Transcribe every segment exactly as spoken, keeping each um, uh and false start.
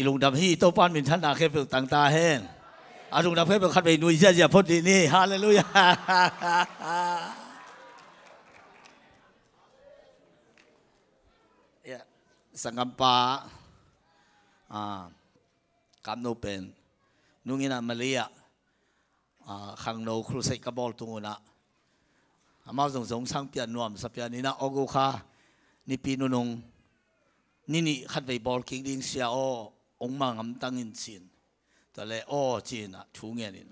I lungdam hi. Topa in minthanna khempeuh tang ta hen. A lungdam khempeuh khatvei nui ziazia phot dih ni. Halleluiah. Sanggampa, ah, Kamno pen nungin ah Malaysia ah, khangno crusade ka bawl tung un ah, amau zong zong sang pian nuam sa pian in ah, August kha nipi nunung ni nih khatvei bawl kik ding sia aw, ong mangam tang in cin. Tua le aw cin ah thu ngen in,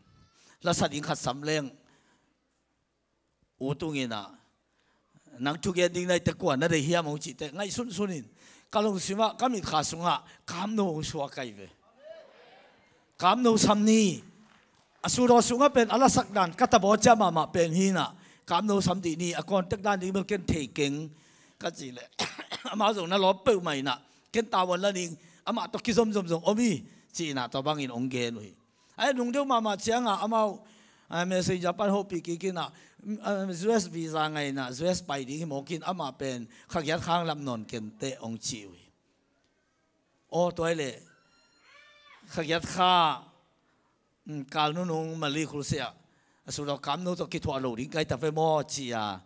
lasa ding khat sam leng u tung in ah, nang thugen ding naite kua na deih hiam ong cihte ngaihsunsun in, ka lungsim ah ka mitkha sungah Kamno ong suak kai ve. Kamno sam ni. A studio sungah pen a lasak dan ka tabaw ciah mahmah pen hi in ah, Kamno sam dih ni, a contact dan ding bel ken thei keng ka cih leh, amau zong na lawp peuhmah in ah, ken tavuan la ning, amah tawh kizomzom zong om hi, ci in ah tua bangin ong gen uh hi. Ai nung deuh mahmah ciangah amau, ah, messenger pan hopih kik in ah, mm, ah, U S visa ngai in ah, U S pai ding hi mawk in, amah pen kha giat kha lam nawn kenteh ong ci uh hi. Aw tua hi leh, kha giat kha, mm, kal nunung Malaysia crusade ah, a studio Kamno tawh kithuah lo ding kai ta ve maw ci a,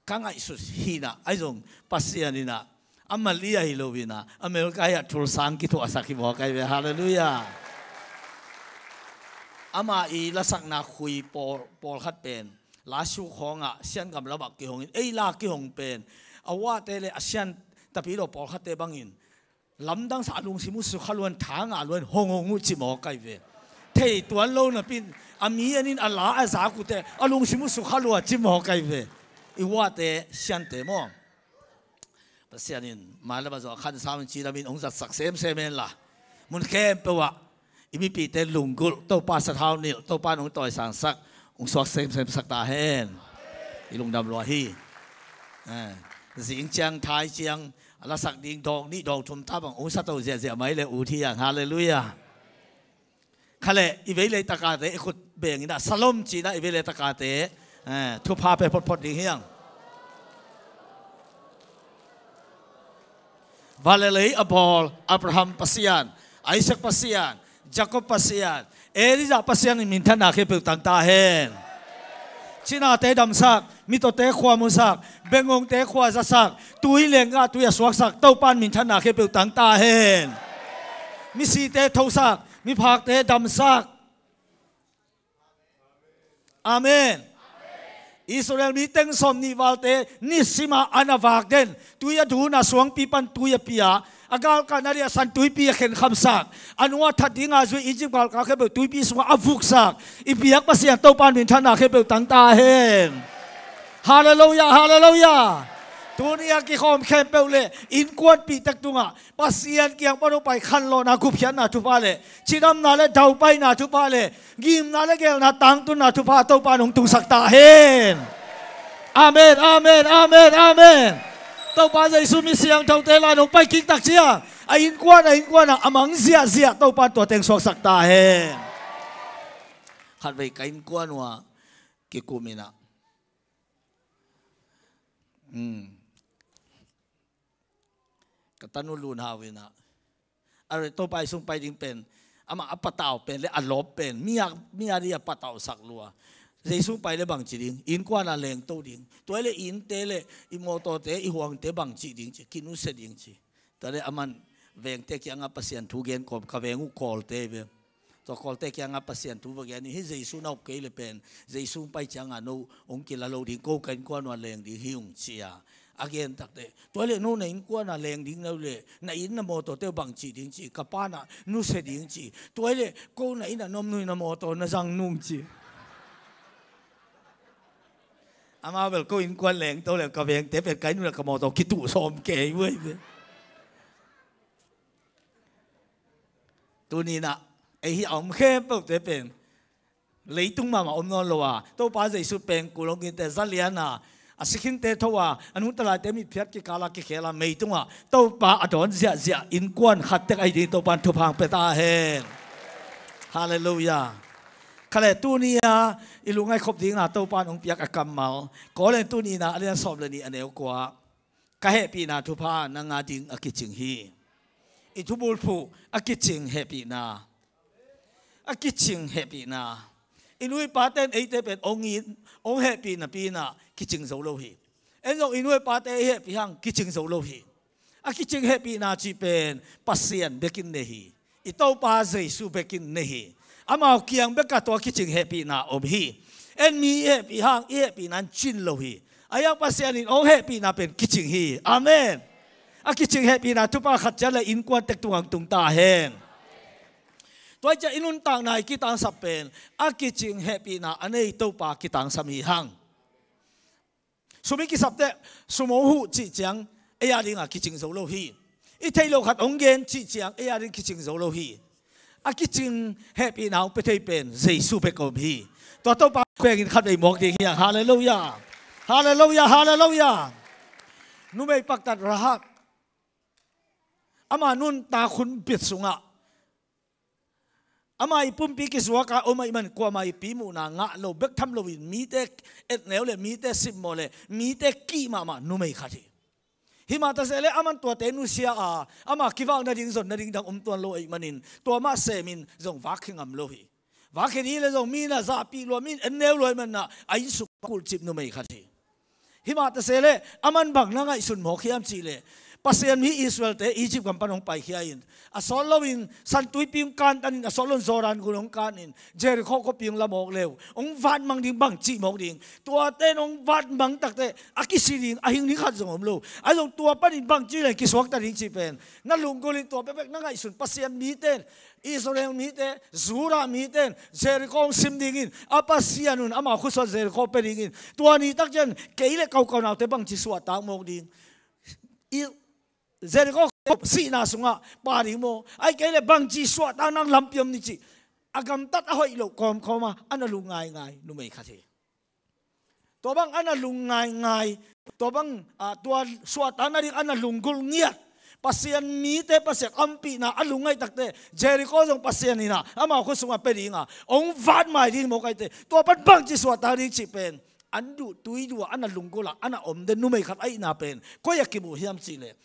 ka ngaihsut hi in ah, ahi zong Pasian in ah, a Malaysia hi lo in ah, America hi ah thulsang kithuahsak hi mawk ai ve. Halleluiah. Amah i lasakna khui pawl, pawlkhat pen, lasuk khawngah Siangam lamah kihong in, ei la kihong pen, a uate le a sian tapi lo pawlkhatte bangin, lamdang sa a lungsim uh sukha luan, tha ngah luan, hong hong uh ci mawk ai ve. Thei tuan lo napi in, a mi en in a la a zak uhte, a lungsim uh sukha lua ci mawk ai ve. I uate siante maw. Pasian in, mailam a zong a khan sau in ci lam in ong zatsak semsem en la. Mun khempeuh ah, i mipite lunggulh, Topa sathau nilh, Topa in ong tawisangsak, ong suak semsemsak ta hen. I lungdam lua hi. Eh, zing ciang, thai ciang, a lasak ding dawng nih dawng thum ta bang, ong sa to ziahziah mai le u thi ang. Halleluiah. Kha leh, i vei leitakate, i khut beng in ah, Shalom ci in ah, i vei leitakate, eh, thupha pe photphot ding hi ang. Van le lei a bawl Abraham Pasian, Isaac Pasian, Jacob Pasian, Elijah Pasian in minthanna khempeuh tang ta hen. Cinate damsak, mitawte khua musak, bengongte khua zasak, tui lengah tui a suaksak Topa in minthanna khempeuh tang ta hen. Misite thosak, miphakte damsak. Amen. Israel mi teng sawm nih valte nisimah an a vak den, tui a dun a, suangpi pan tui a pia, a galkah na dih a san tuipi a khenkhamsak, a nung a that dinga zui Egypt galkap khempeuh tuipi sungah a vuksak i biak Pasian Topa in minthanna khempeuh tang ta hen. Halleluiah, halleluiah. Tuni a kikhawm khempeuh le innkuanpihte tungah Pasian kiang pan hong pai khanlawhna, gupkhiatna thupha le cidamna le daupaina thupha le ngimna le gelna tangtunna thupha Topa in hong tungsak ta hen. Amen, amen, amen, amen. Topa Jesu mi siangthote la nong pai kik tak ciang a innkuan, a innkuan ah a mang ziahziah Topa in tua teng suaksak ta hen. Khatvei ka innkuan uh ah kikum in ah, hmm, ka tanu Lun Hau in ah, a rei Topa i sung pai ding pen, amah a patau pen le a lawp pen, mi a, mi a dih a patausak lua. Jesu pai le bangci ding, innkuan a lengto ding. Tua le innte le i mawtawte, i huangte bangci ding ci, kinusia ding ci. Tua le aman vengte kiangah Pasian thu gen kawm, ka veng uh Kawlte ve. Tua Kawlte kiangah Pasian thu va gen hi, Jesu na up kei le pen, Jesu pai ciangah no hong kila lo ding, ko ka innkuan uh a leng ding hi ung ci a, a gen takte. Tua le no na innkuan a leng ding no le, na inn na mawtawte uh bangci ding ci, ka pa na nusia ding ci. Tua le ko na inn a na om nung, na mawtaw na zang nung ci. Amau bel ko innkuan lengto le ka vengte pen ka inn uh le ka mawtaw kituh sawm kei uh ei ve. Tuni in ah, ei hi a om khempeuhte pen leitung mahmah om nawn lo a, Topa Jesu pengkul hong kinte, zalian a, a sikhingte tho a, a nungta laite mitphiat kikal a kikhel a, meitungah Topa a dawn ziahziah innkuan khat tek ahi ding Topa in thupha hong pia ta hen. Halleluiah. Kha le tuni a i lungngaih khop dingin a Topa in hong piak a kammal, Korin tuni in a lian sawm le nih a neu kua, ka hehpihna thupha nang a ding a kicing hi. I thubulphuh a kicing hehpihna. A kicing hehpihna. I nu i pate in eite pen hong it, hong hehpih napi-in ah kicing zo lo hi. En zong i nu i pate i hehpih hang kicing zo lo hi. A kicing hehpihna cih pen Pasian bekin nei hi. I Topa Jesu bekin nei hi. Amau kiang bekah tua kicing hehpihna om hi. En mi i hehpih hang i hehpihna in cing lo hi. Ahi hang Pasian in hong hehpihna pen kicing hi. Amen. A kicing hehpihna thupha khat ciat le innkuan tek tungah tung ta hen. Tua hi ciang i nuntakna i kitangsap pen a kicing hehpihna a nei Topa kitangsam hi hang. Sum i kisap teh, sum hong huh cih ciang ei a dingah kicing zo lo hi. I theih loh khat hong gen cih ciang ei a ding kicing zo lo hi. A kicing hehpihna hong pia thei pen Jesu bek om hi. Tua Topa pengin khatvei mawk ding hi hang. Halleluiah. Halleluiah, halleluiah. Numei paktat Rahab, ama nuntak hun bit sungah ama i pumpi kizuak a om ahih man kuamah i pi muhna ngah lo bek tham loin mite etneu le mite simmawh le mite kih mahmah numei khat hi. Himah taseleh aman tuate nusia a, ama kivak nading zon nading dang om tuan lo ahih manin tua mah semin zong vak khe ngam lo hi. Vak khe ding le zong mi in a zahpih lua, mi in etneu lua ahih manin a innsung kulhcip numei khat hi. Himah taseleh aman bang na ngaihsun mawk hiam cihleh, Pasian mi Israel-te Egypt gam pan hong paikhia in, a sawt loin Santuipi hong kantanin, a sawt loin Jordan gun hong kanin, Jericho khuapi hong la mawk leu hong vatmang ding, bangci mawk ding. Tuate in hong vatmang takteh a kisi ding, a hing ding khat zong om lo. Ahi zong tua panin bangci leng kisuakta ding cih pen na lunggulh in, tua bekbek na ngaihsun. Pasian mite in, Israel mite, Judah mite in Jericho hong sim dingin a Pasian un amau khutsuah Jericho pia dingin, tua ni tak ciang kei le ko kaunaute bangci suahtak mawk ding? I Jericho sihna sungah pha ding maw? Ahih kei leh bangci suahtak nang lampi om ni cih a gamtat a hoih loh kawmkawm a a na lungngaingai numei khat hi. Tua bang a na lungngaingai, tua bang, ah, tua suahtak nading a na lunggulh ngiat Pasian mite Pasian ompihna a lungngaih takteh Jericho zong Pasian in a amau khut sungah pia ding a hong vatmai ding mawk ahih teh, tua pan bangci suahtak ding cih pen an duh tui duh a a na lunggulh a a na om den numei khat ahihna pen koi a kimu hiam cihleh,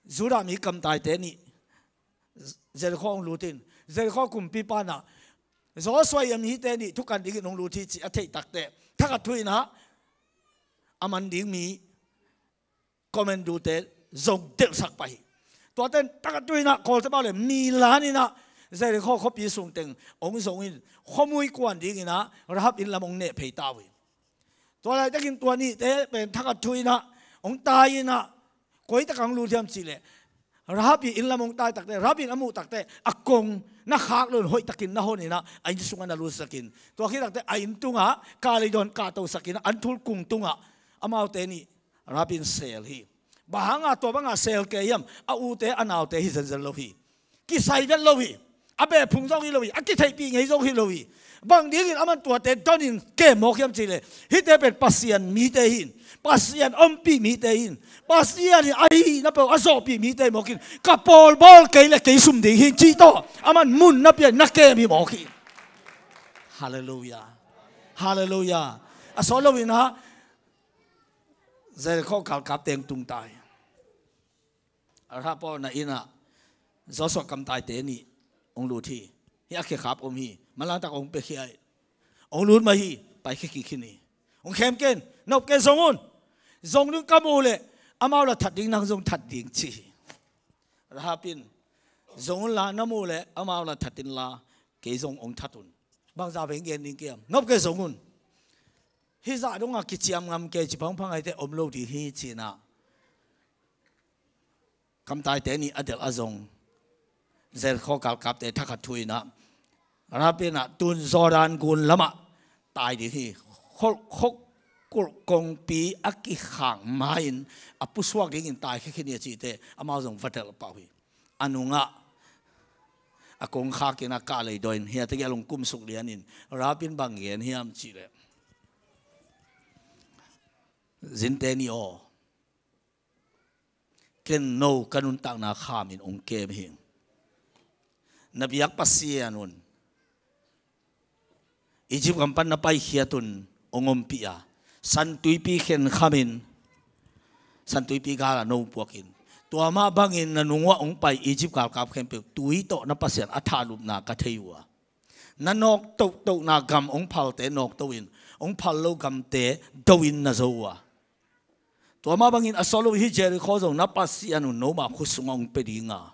Judah mi kamtaite nih Jericho hong lut in, Jericho kumpipa in a Joshua ii a mite nih thukan dingin hong lut hi cih a theih takteh, Thakhat Thu in a a man ding mi commandute zong delhsak pah hi. Tuate in Thakhat Thu in a kawlte pau le mi lan in a Jericho khuapi sung teng hong zong in, khuamui kuan dingin a Rahab inn lam hong neh phei ta uh hi. Tua laitakin tua nihte pen Thakhat Thu in a hong tai in a, koi takah hong lut hiam cihleh, Rahab ii inn lam hong tai takteh, Rahab in a muh takteh a kong na khak loin hoih takin na hon in a, a inn sungah na lutsakin, tua khit takteh a inn tungah kah lei dawn kahtosakin a, an thul kung tungah amaute nih Rahab in sel hi. Bang hanga tua banga sel kei hiam? A ute a naute hi zenzen lo hi. Kisai vet lo hi. A beh phung zong hi lo hi. A kitheihpih ngei zong hi lo hi. Bang dingin aman tuate donin kem mawk hiam cihleh, hihte pen Pasian mite hi in, Pasian ompih mite hi in, Pasian in a hihna peuh a zawhpih mite hi mawk in, ka pawl bawl kei le kei sum ding hi in cih tawh aman mun na pia in na kem hi mawk hi. Halleluiah. Halleluiah. A sawt loin a Jericho galkapte hong tung ta hi. Rahab pawlna inn ah Joshua kamtaite nih hong lut hi. Hih a khekhap om hi. Manlangtak hong piakhia hi. Hong lut mah hi. Paikhia kik hi ni. Hong khem ken, na up ken, zong un. Zong ding ka muh leh amau la that ding, nang zong that ding ci hi. Rahab in, zong unla, na muh leh amau la that inla kei zong hong that un. Bangzah vei gen ding ka hiam? Na up ken, zong un. Hih zah dongah kiciam ngam kei ci phangphang ahih teh om lo ding hi ci-in ah kamtaite nih a delh a zong, Jericho galkapte Thakhat Thu in ah, Rahab in ah tun Jordan gun lamah tai ding hi. Khol, khol, khol kongpi a kikhak ma-in a pusuak dingin taikhia khin hi a cih teh amau zong va delh pah uh hi. A nungah a kongkhak in ah kah lei dawn in, hiah tegel hong kumsuk lian in, Rahab in bang gen hiam cih leh, zinte nih aw, ken no ka nuntakna khamin hong kem hi. Na biak Pasian un Egypt gam pan na paikhiat un hong ompih a, Santuipi khenkhamin, Santuipi galah no puakin, Tua mah bangin na nung uah hong pai Egypt galkap khempeuh tui tawh na Pasian a thahlupna ka thei uh a, na nawk tohtohna gam hong phalte nawkto in, hong phal lo gamte do in na zo uh a, tua mah bangin a sawt lo hih Jericho zong na Pasian un noma khut sungah hong pia ding a,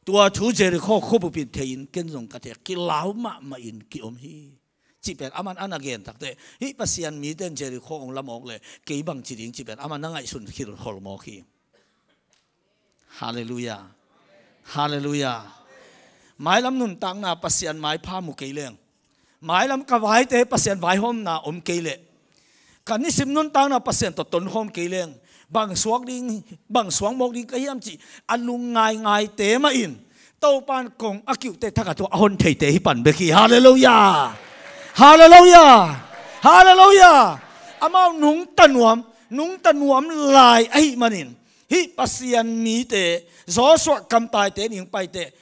tua thu Jericho khuabup in thei in ken zong ka thei a, kilau mahmah in ki-om hi. Cih pen aman a na gen takteh, hih Pasian mite in Jericho hong lamawk leh kei bang ci ding cih pen aman na ngaihsun khilkhol mawk hi. Halleluiah. Halleluiah. Mailam nuntakna Pasian maipha mu kei leng, mailam ka vaite Pasian vaihawmna om kei leh, ka nisim nuntakna Pasian tawh tonkhawm kei leng, bang suak ding, bang suak mawk ding ka hiam cih a lung ngaingaite mah in Topa in kong a kiuhte thak a thu a hon theite hi pan bek hi. Halleluiah. Halleluiah. Halleluiah. Amau nungta nuam, nungta nuam lai ahih manin, hih Pasian mite Joshua kamtaite ning paite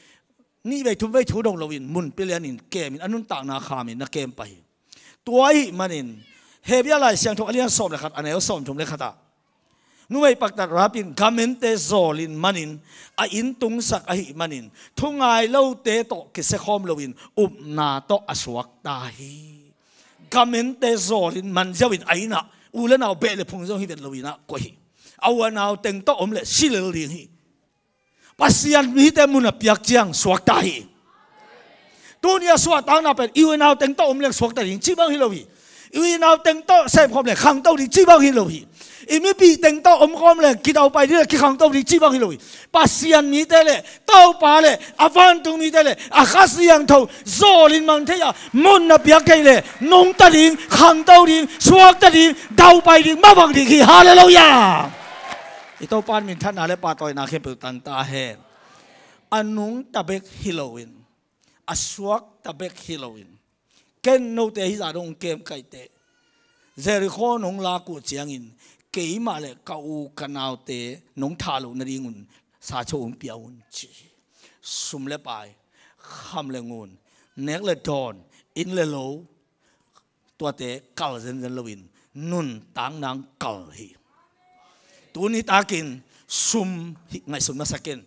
nih vei thum vei thu dong loin mun pia lianin kemin a nuntakna khamin na kem pah hi. Tua ahih manin Hebrew Lai Siangtho a lian sawm le khat, a neu sawmthum le khat ah, numei paktat Rahab in gamente zawlin manin a inn tungsak ahih manin thungai lote tawh kisiakhawm loin upna tawh a suakta hi. Gamente zawlin man ziauin a inn ah u le nau beh le phung zong hi vet loin ah koih hi. A u a nau teng tawh om leh si lel ding hi. Pasian mite mun a piak ciang suakta hi. Tuni a suahtakna pen i u i nau teng tawh om leng suakta ding cih bang hi lo hi. I u i nau teng tawh sepkhawm leng khangto ding cih bang hi lo hi. I mipih teng tawh omkhawm leng kidaupai ding le kikhangto ding cih bang hi lo hi. Pasian mite le Topa le a vantung mite le a Kha Siangtho zawlin mang thei a, mun a piak thei le nungta ding, khangto ding, suakta ding, daupai ding, mavang ding hi. Halleluiah. I Topa in minthanna le pahtawina khempeuh tang ta hen. A nungta bek hi loin, a suakta bek hi loin, ken note hih zah dong kem kaihte, Jericho nong lak uh ciangin keimah le ka u ka naute nong thah loh nadingun sacho hong pia un ci hi. Sum le pai, kham le ngun, nek le dawn, inn le lo, tuate kal zenzen loin nuntak nang kal hi. Tuni takin sum hi ngaihsun masa ken,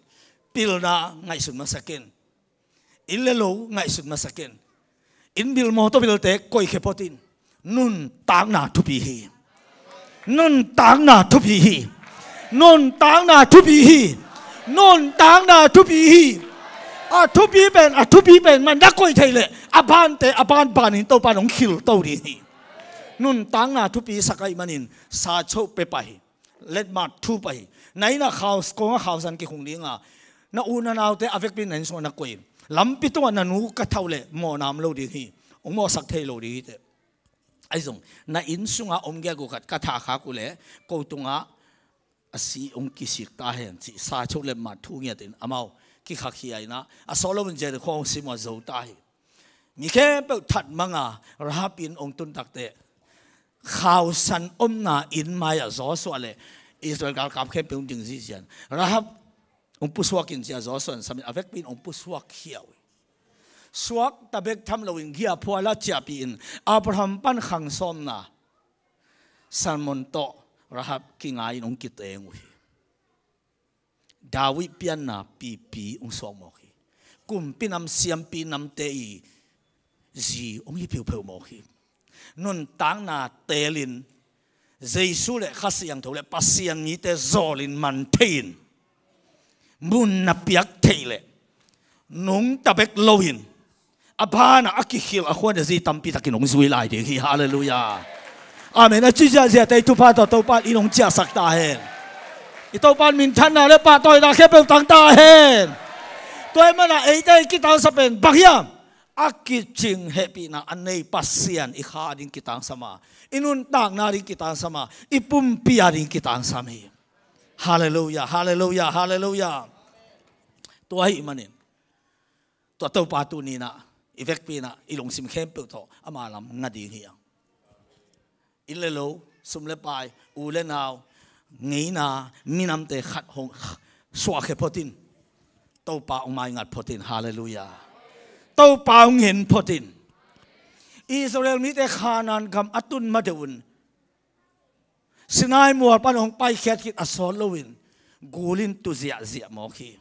pilna ngaihsun masa ken, inn le lo ngaihsun masa ken, inn bil mawtaw bilte koihkhia photin, nuntakna thupi hi. Nuntakna thupi hi. Nuntakna thupi hi. Nuntakna thupi hi. A thupi pen, a thupi pen man na koih thei leh a bante a ban banin Topa in hong khilto ding hi. Nuntakna thupi sak ahih manin sacho pia pah hi. Letmat thu pah hi. Na inn ah khau, kong ah khausan kikhung ding a, na u na naute a vekpi in na inn sungah na koih in, lampi tungah na nu ka thau leh mawhna om lo ding hi. Hong mawhsak thei lo ding hi teh. Ahi zong na inn sungah om giak uh khat ka thah khak uh leh ko tungah a si hong kisik ta hen cih sacho letmat thu ngiatin amau kikhakkhia in ah, a sawt loin Jericho hong sim uh a zo ta hi. Mi khempeuh that mang a Rahab in hong tun takteh, khausan omna inn mai-ah Joshua le Israel galkap khempeuh hong ding zizian Rahab hong pusuak in ci-a Joshua in sam in a vekpi in hong pusuak khia uh hi. Suakta bek tham loin giahphual a ciahpih in Abraham pan khang sawmna Salmon tawh Rahab kingai in hong kiteng uh hi. David pianna pipi hong suak mawk hi. Kumpi nam siampi namte i zi hong hi pheupheuh mawk hi. Nuntakna teelin Jesu le Kha Siangtho le Pasian mite zawlin man thei-in, mun na piak theih leh nungta bek loin a banah a kikhil a khuan a zi tampi takin hong zui lai ding hi. Halleluiah. Amen. A ci ziahziahte i thupha tawh Topa in hong ciahsak ta hen. I Topa in minthanna le pahtawina khempeuh tang ta hen. Tua ahih manin eite i kitangsap pen bang hiam? A kicing hehpihna a nei Pasian i kha a ding kitangsam a, i nuntakna a ding kitangsam a, i pumpi a ding kitangsam hi. Halleluiah, halleluiah, halleluiah. Tua ahih manin tua Topa tuni-in ah i vekpi-in ah i lungsim khempeuh tawh ama lam nga ding hi hang. Inn le lo, sum le pai, u le nau, ngeina, minamte khat hong suahkhia photin, Topa hong maingat photin. Halleluiah. Topa hong ngen photin. Israel mite Kanaan gam a tun ma deuh un Sinai mual pan hong paikhiat khit a sawt loin Gul in tu ziahziah mawk hi.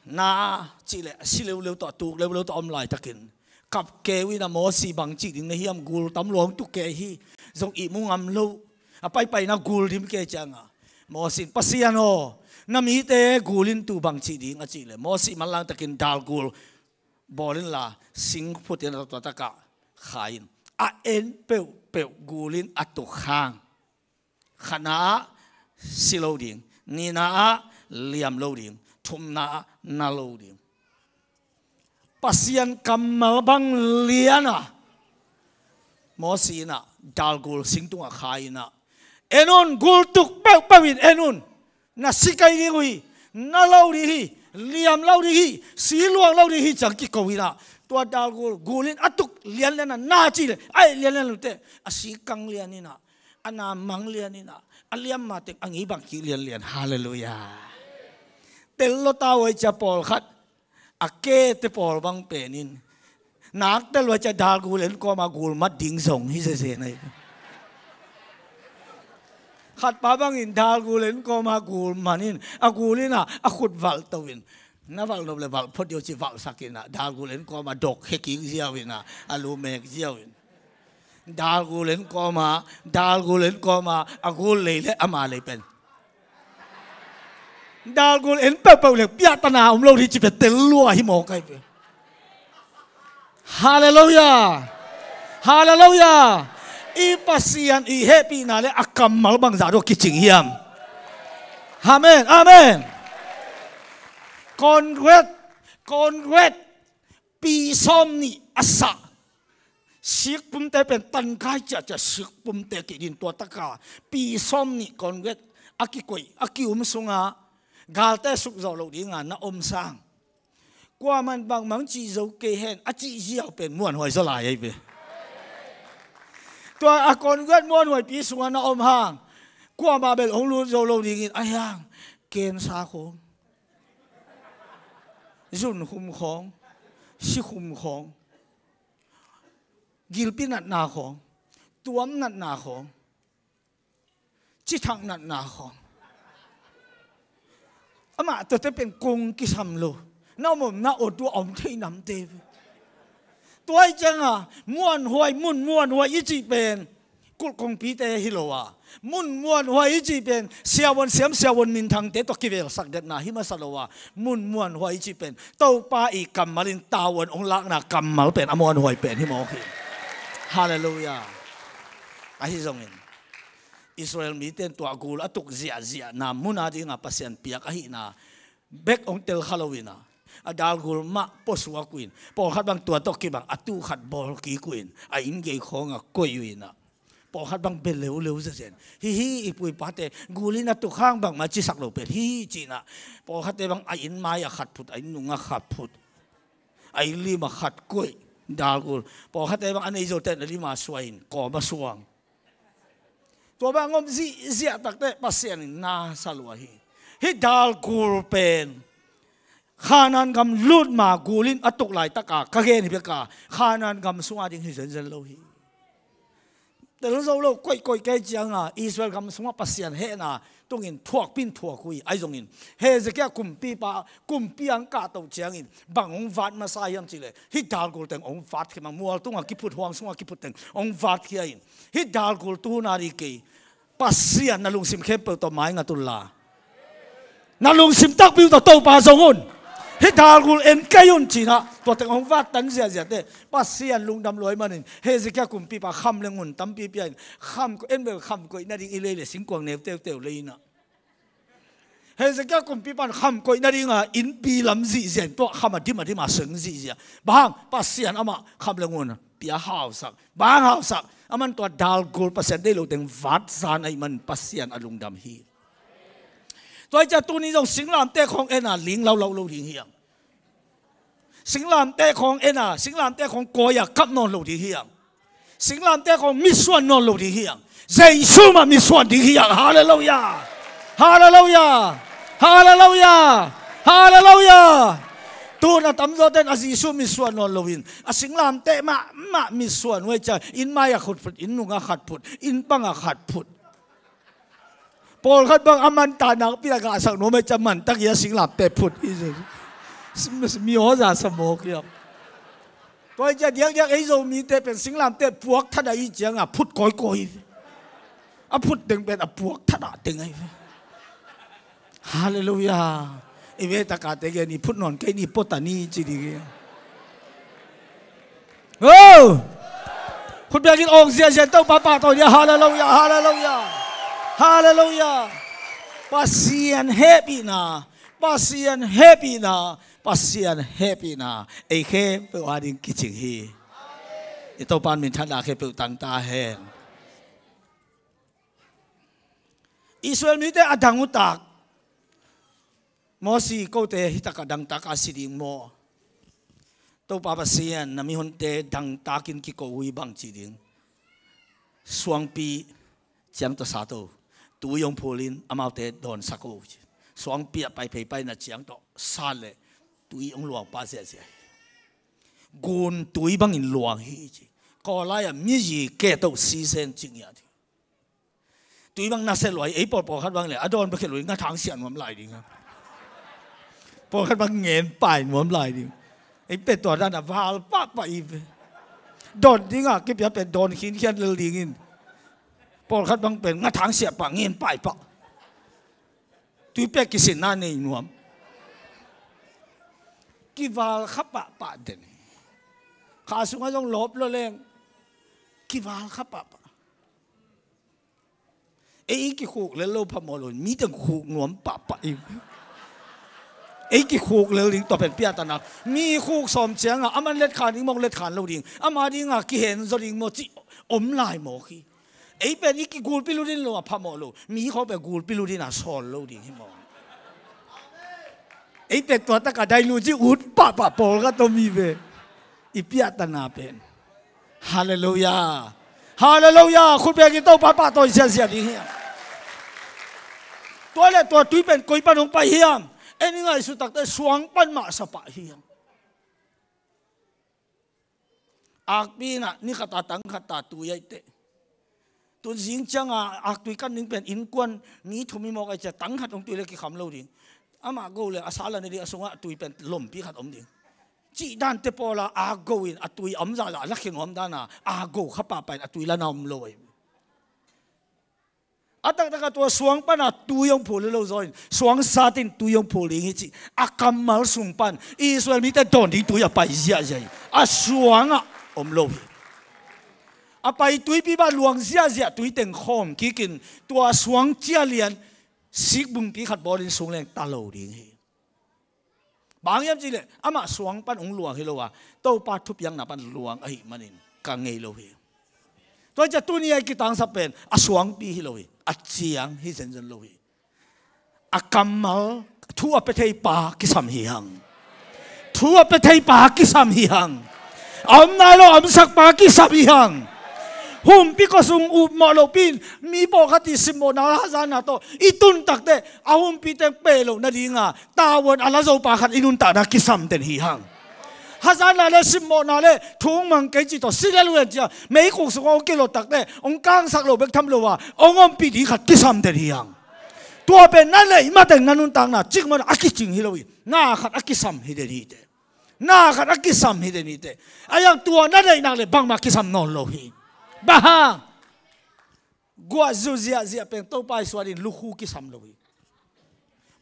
Na cih leh si leuleu tawh, tuk leuleu tawh om laitakin, kap keu in a Mosi bang cih ding na hiam, gul tam lua hong tuk kei hi, zong ihmu ngam lo. A paipaina gul dim kei cianga Mosi in, Pasian aw, na mite gul in tu bang cih ding a cih leh, Mosi manlang takin dal gul bawl inla, sing phut in a tua takah kha in, a en peuhpeuh gul in a tuk hang, khatna ah si lo ding, nihna ah liam lo ding, thumna ah na lo ding. Pasian kammal bang lian a Mosi in a dal gul sing tungah kha in a, en un, gul tuk peuhpeuh in en un, na si kei ding uh hi, na lo ding hi, liam lo ding hi, si luang lo ding hi, ciang kiko in a, tua dal gul, gul in a tuk lianlian a, na cih leh a et lianlian lo teh, a si kang lian in a, a na mang lian in a, a liam mateng a ngei bang kik lianlian. Halleluiah. Tel lo ta uh ai cia pawlkhat, a kete pawl bang pen in, nak tel uh ai cia dal gul en kawma gul mat ding zong hi zezen ai. Khatpa bangin dal gul en kawma gul man in, a gul in a, a khut valh to in, na valh nop leh valh phot dih uh ci valhsak in a, dal gul en kawma dok he kik ziau in a, a lu mek ziau in. Dal gul en kawma, dal gul en kawma, a gul lei leh ama lei pen, dal gul en peuhpeuh leh piahtana om lo hi ci pen tel lua hi mawk ai pen. Halleluiah. Halleluiah. I Pasian i hehpihna leh a kammal bangzah dong kicing hiam? Amen, amen. Congrats, congrats. Pi sawm nih a sah sikpumte pen tankai ciahciah sikpumte kei ding, tua taka pi sawm nih congrats a kikoih, a ki-um sunga galte sukzawh loh dinga na om sang, kuaman bangmang cih zo kei hen a cih ziau pen muanhuai zaw lai ai ve. Tua a congrats muanhuaipi sunga na om hang, kuamah bel hong lut zo lo dingin, a hiang, kensa khawng, zunkhum khawng, sikhum khawng, gilpi natna khawng, tuam natna khawng, cithak natna khawng, amah tuate pen kong kisam lo. Na om om na awt uh a om thei namte. Tua ih cianga muanhuai, mun muanhuai i cih pen kulh kongpite hi lo a, mun muanhuai i cih pen siavuan siam, siavuan minthangte tawh kivelsak detna hi masa lo a, mun muanhuai i cih pen Topa i kammal in tavuan hong lakna kammal pen a muanhuai pen hi mawk hi. Halleluiah. Ahi zongin Israel mite in tua gul a tuk ziahziahna muna dinga Pasian piak ahihna bek hong tel kha lo in a, a dalgul mah puasuak uh in, pawlkhat bang tua tawh kibang a tu khat bawl kik uh in, a inn gei khawngah koih uh in a, pawlkhat bang bia leuleu zenzen. Hih, hih i pu i pate gul in a tuk hang bangmah cisak lo pen hih ci in a, pawlkhatte bang a inn mai-ah khat phut, a inn nungah khat phut, a inn limah khat koih, dalgul. Pawlkhatte bang a nei zote in a lima suai in kawmah suang. Tua bang om zihziah takte Pasian in na sa lua hi. Hih dalgul pen Khanaan gam lut ma gul in a tuk laitaka ka gen hi beka, Khanaan gam sunga ding hi zenzen lo hi. Tel zo lo, koihkoih kei cianga Israel gam sungah Pasian hehna tungin thuakpi in thuak uh hi. Ahi zongin Hezekiah kumpipa, kumpi ang kahtoh ciangin bang hong vat masa hiam cihleh, hih dalgul teng hong vat khia, mual tungah kiphut, huang sungah kiphut teng hong vat khia in, hih dalgul tuhun a ding kei, Pasian na lungsim khempeuh tawh maingat unla, na lungsim takpi uh tawh Topa zong un. Hih dalgul en kei un ci in a, tua teng hong vat tan ziahziahte Pasian lungdam lua ahih manin Hezekiah kumpipa kham le ngun tampi pia in, kham ko-, en bel kham koih nading i lei le singkuang neu teuteu lei in a, Hezekiah kumpipa in kham koih nadinga innpi lam zihziah in, tua kham a dim a dim a seng zihziah. Bang hang? Pasian amah kham le ngun pia hausak. Bang hang hausak? Aman tua dalgul Pasian deih lo teng vat zan ahih manin Pasian a lungdam hi. Tua hi ciah tuni zong singlamteh khawng en a ling laulau lo ding hi hang. Singlamteh khawng en a, singlamteh khawng kawi a kap nawn lo ding hi hang. Singlamteh khawng mitsuan nawn lo ding hi hang. Jesu mah mitsuan ding hi hang. Halleluiah. Halleluiah. Halleluiah. Halleluiah. Tuhun a tamzawte in a Jesu mitsuan nawn loin a singlamteh mahmah mitsuan uh hi ciah, inn mai-ah khat phut, inn nungah khat phut, inn pangah khat phut. Pawlkhat bang a man ta nakpi a gahsak nuam ahih ciang man tak hi a singlamteh phut hi. Mi aw za sa mawk hiam? Tua hi ciah diakdiak ei Zomite pen singlamteh puak that a i ciangah phut kawikawi hi. A phut teng pen a puak that ah teng ahi ve. Halleluiah. I ve takate gen i phut nawn kei ni, pota ni ci ding hi. Oh! Khut biakin awng ziahziah Topa pahtawi dia. Halleluiah, halleluiah, halleluiah. Pasian hehpihna, Pasian hehpihna, Pasian hehpihna ei khempeuh a ding kicing hi. I Topa in minthanna khempeuh tang ta hen. Israel mite a dang uh tak. Mosi, kote hi takah dangtak a si ding maw? Topa Pasian, na mihonte dangtakin kiko uh hi bang ci ding. Suangpi ciang tawh sa to, tui hong phulin amaute dawnsak uh ci. Suangpi ah pai phei pai na ciang tawh sa le tui hong luang pah ziahziah hi. Gun tui bangin luang hi ci. Kawlai ah miyi ke to sisen ci ngiat hi. Tui bang nasia luai, ei pawl pawlkhat bang le a dawn bek hi lo, ngathang siah nuam lai ding a. Pawlkhat bang ngen pai nuam lai ding. Ei pet tua dan a val pahpah i ve. Dawn ding a kipia pen dawn khinkhian lel dingin. Pawlkhat bang pen ngathang siah pah, ngen pai pah. Tui pek kisinna nei nuam. Kival kha pahpah den. Kha sungah zong lawp lo leng kival kha pahpah. Ei kikhuk lel lo phamawh lo, mi teng khuk nuam pahpah i. Ei kikhuk lel ding tua pen piahtana. Mi khuk sawm ciangah aman letkhan ding mawk, letkhan lo ding, ama dingah kihen zaw ding maw cih om lai mawk hi. Ei pen i kigulpi lutin lo a phamawh lo, mi khawng pen gulpi lutin a sawl lo ding hi maw? Ei pen tua takah dai lu ci ut pahpah pawlkhat om hi ve. I piahtana pen. Halleluiah. Halleluiah. Khut bekin Topa pahtawi ziahziah ding hiam? Tua le tua tui pen koi pan hong pai hiam? En i ngaihsut takte suang pan mah sa pah hiam? Akpi in ah ni khat a tang khat a tui aih teh. Tun zing ciangah aktui kan ding pen innkuan mi thum i mawk aih ciah tang khat hong tui le kikham lo ding. Amah go le a sa la ne ding a sungah tui pen lompi khat om ding. Cih dante pawla a go in a tui a om zahzah a lakhia nuam dana a go kha pahpah in a tui lana om lo ahi. A taktakah tua suang pana tui hong phul hi lo zaw in suang satin tui hong phul ding hi cih a kammal sung pan Israel mite dawn ding tui a pai ziahziah hi. A suangah om lo hi. A pai tuipi bah luang ziahziah tui teng khawm kikin tua suang cia lian sikbungpi khat bawlin sung leng ta lo ding hi. Bang hiam cihleh amah suang pan hong luang hi lo a, Topa thupiakna pan luang ahih manin ka ngei lo hi. Tua hi ciah tuni a i kitangsap pen a suangpi hi lo hi, a ciang hi zenzen lo hi. A kammal thu a pia thei pa kisam hi hang. Thu a pia thei pa kisam hi hang. A om nai lo a omsak pa kisam hi hang. Humpi khuasung upmawh lopi in mi pawlkhat i simmawhna hazatna tawh i tun takte a humpi teng peh loh nadinga tavuan a la zo pa khat i nuntakna kisam den hi hang. Hazatna le simmawhna le thu hong mang kei ci tawh si le luan cia meikuk sungah hong kilot takte hong kangsak lo bek tham lo a hong ompih ding khat kisam den hi hang. Tua pen na neih mateng na nuntakna cikmah a kicing hi lo hi. Na khat a kisam hi den hi teh. Na khat a kisam hi den hi teh. A iang tua na neih nak le bangmah kisam nawn lo hi. Bang hang? Guah zu ziahziah pen Topa i suatin lukhu kisam lo hi.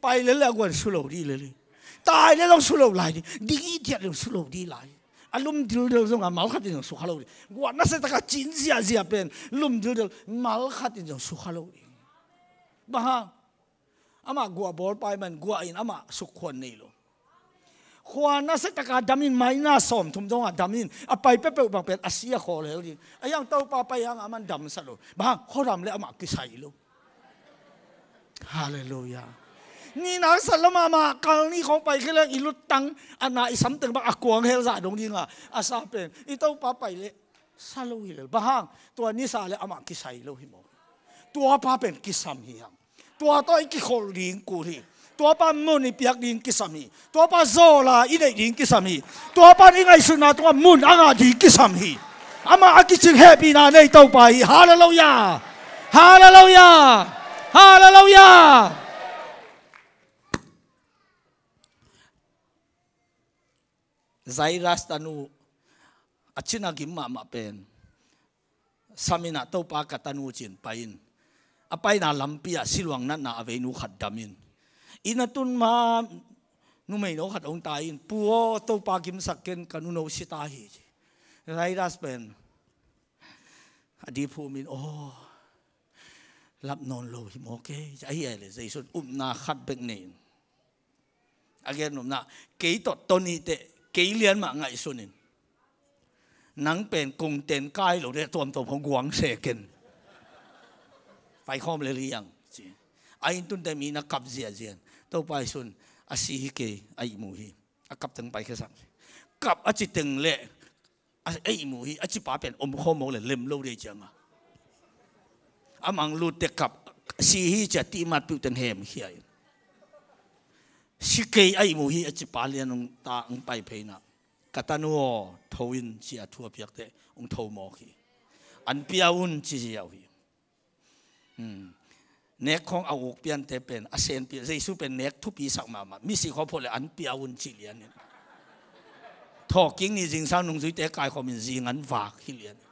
Pai lel le a guan su lo dih lel hi. Tai lel zong su lo lai dih. Ding i diat le su lo dih lai. A lum dildel zong a mal khatin zong su kha lo dih. Guah nasia taka cin ziahziah pen lum dildel mal khatin zong su kha lo dih. Bang hang? Amah guah bawl pai man guah in amah sukkhuan nei lo. Khua nasia taka dam in maina sawm thum zongah dam in a pai peuhpeuh bang pen a si a khawl hel ding. A iang Topa pai hang a man damsak lo. Bang hang? Khuadam le amah kisai lo. Halleluiah. Ni nak sa lo mahmah kal ni khawng pai khia leng i luttang a na i samteng bang a kuang hel zah dong dinga a sa pen i Topa pai le sa lo hi lel. Bang hang? Tua ni sa le amah kisai lo hi maw? Tua pa pen kisam hi hang. Tua tawh i kikholh ding kul hi. Tua pa mun i piak ding kisam hi. Tua pa zawla i neih ding kisam hi. Tua pa i ngaihsutna tungah mun a ngah ding kisam hi. Amah a kicing hehpihna nei Topa hi. Halleluiah. Halleluiah. Halleluiah. Jairus tanu a cina gim mahmah pen samin ah, "Topa, ka tanu," ci-in pai in, a paina lampi ah siluang natna a veinu khat dam in, inn a tun ma numeino khat hong tai in, "Pu aw, Topa gimsak ken, ka nuno si ta hi," ci. Jairus pen a diphum in, "Aw, lap nawn lo hi maw kei," ci. Ahi a leh Jesu in upna khat bek nei in, a gen nopna, "Kei tawh ton ni teh, kei lian mah ngaihsun in, nang pen kong ten kai lo teh, tuamtuam hong guang se ken. Paikhawm lel hi hang," ci. A inn tunte mi na kap ziahziah in, "Topa, Jesu in a si hi kei, a ihmu hi. A kap teng paikhiasak hi. Kap a ci teng leh, a ihmu hi, a cipa pen omkhawm mawk leh lem lo dei," ci-in a, a mang lut teh kap, "Si hi," ci-a tihmat piuh teng hemkhia in, "Si kei, a ihmu hi," a cipa lian hong ta, hong pai phei in ah, "Ka tanu aw, tho in," ci-a thu a piak teh hong tho mawk hi. "An pia un," ci ziau hi. Hmm. Nek khawng a uk piante pen a senpi, Jesu pen nek thupi sak mahmah. "Misi khaw phot leh an pia un," ci lian in, thawhkik ni zingsang nungzuite kaikhawm in zing an vak hi lian in,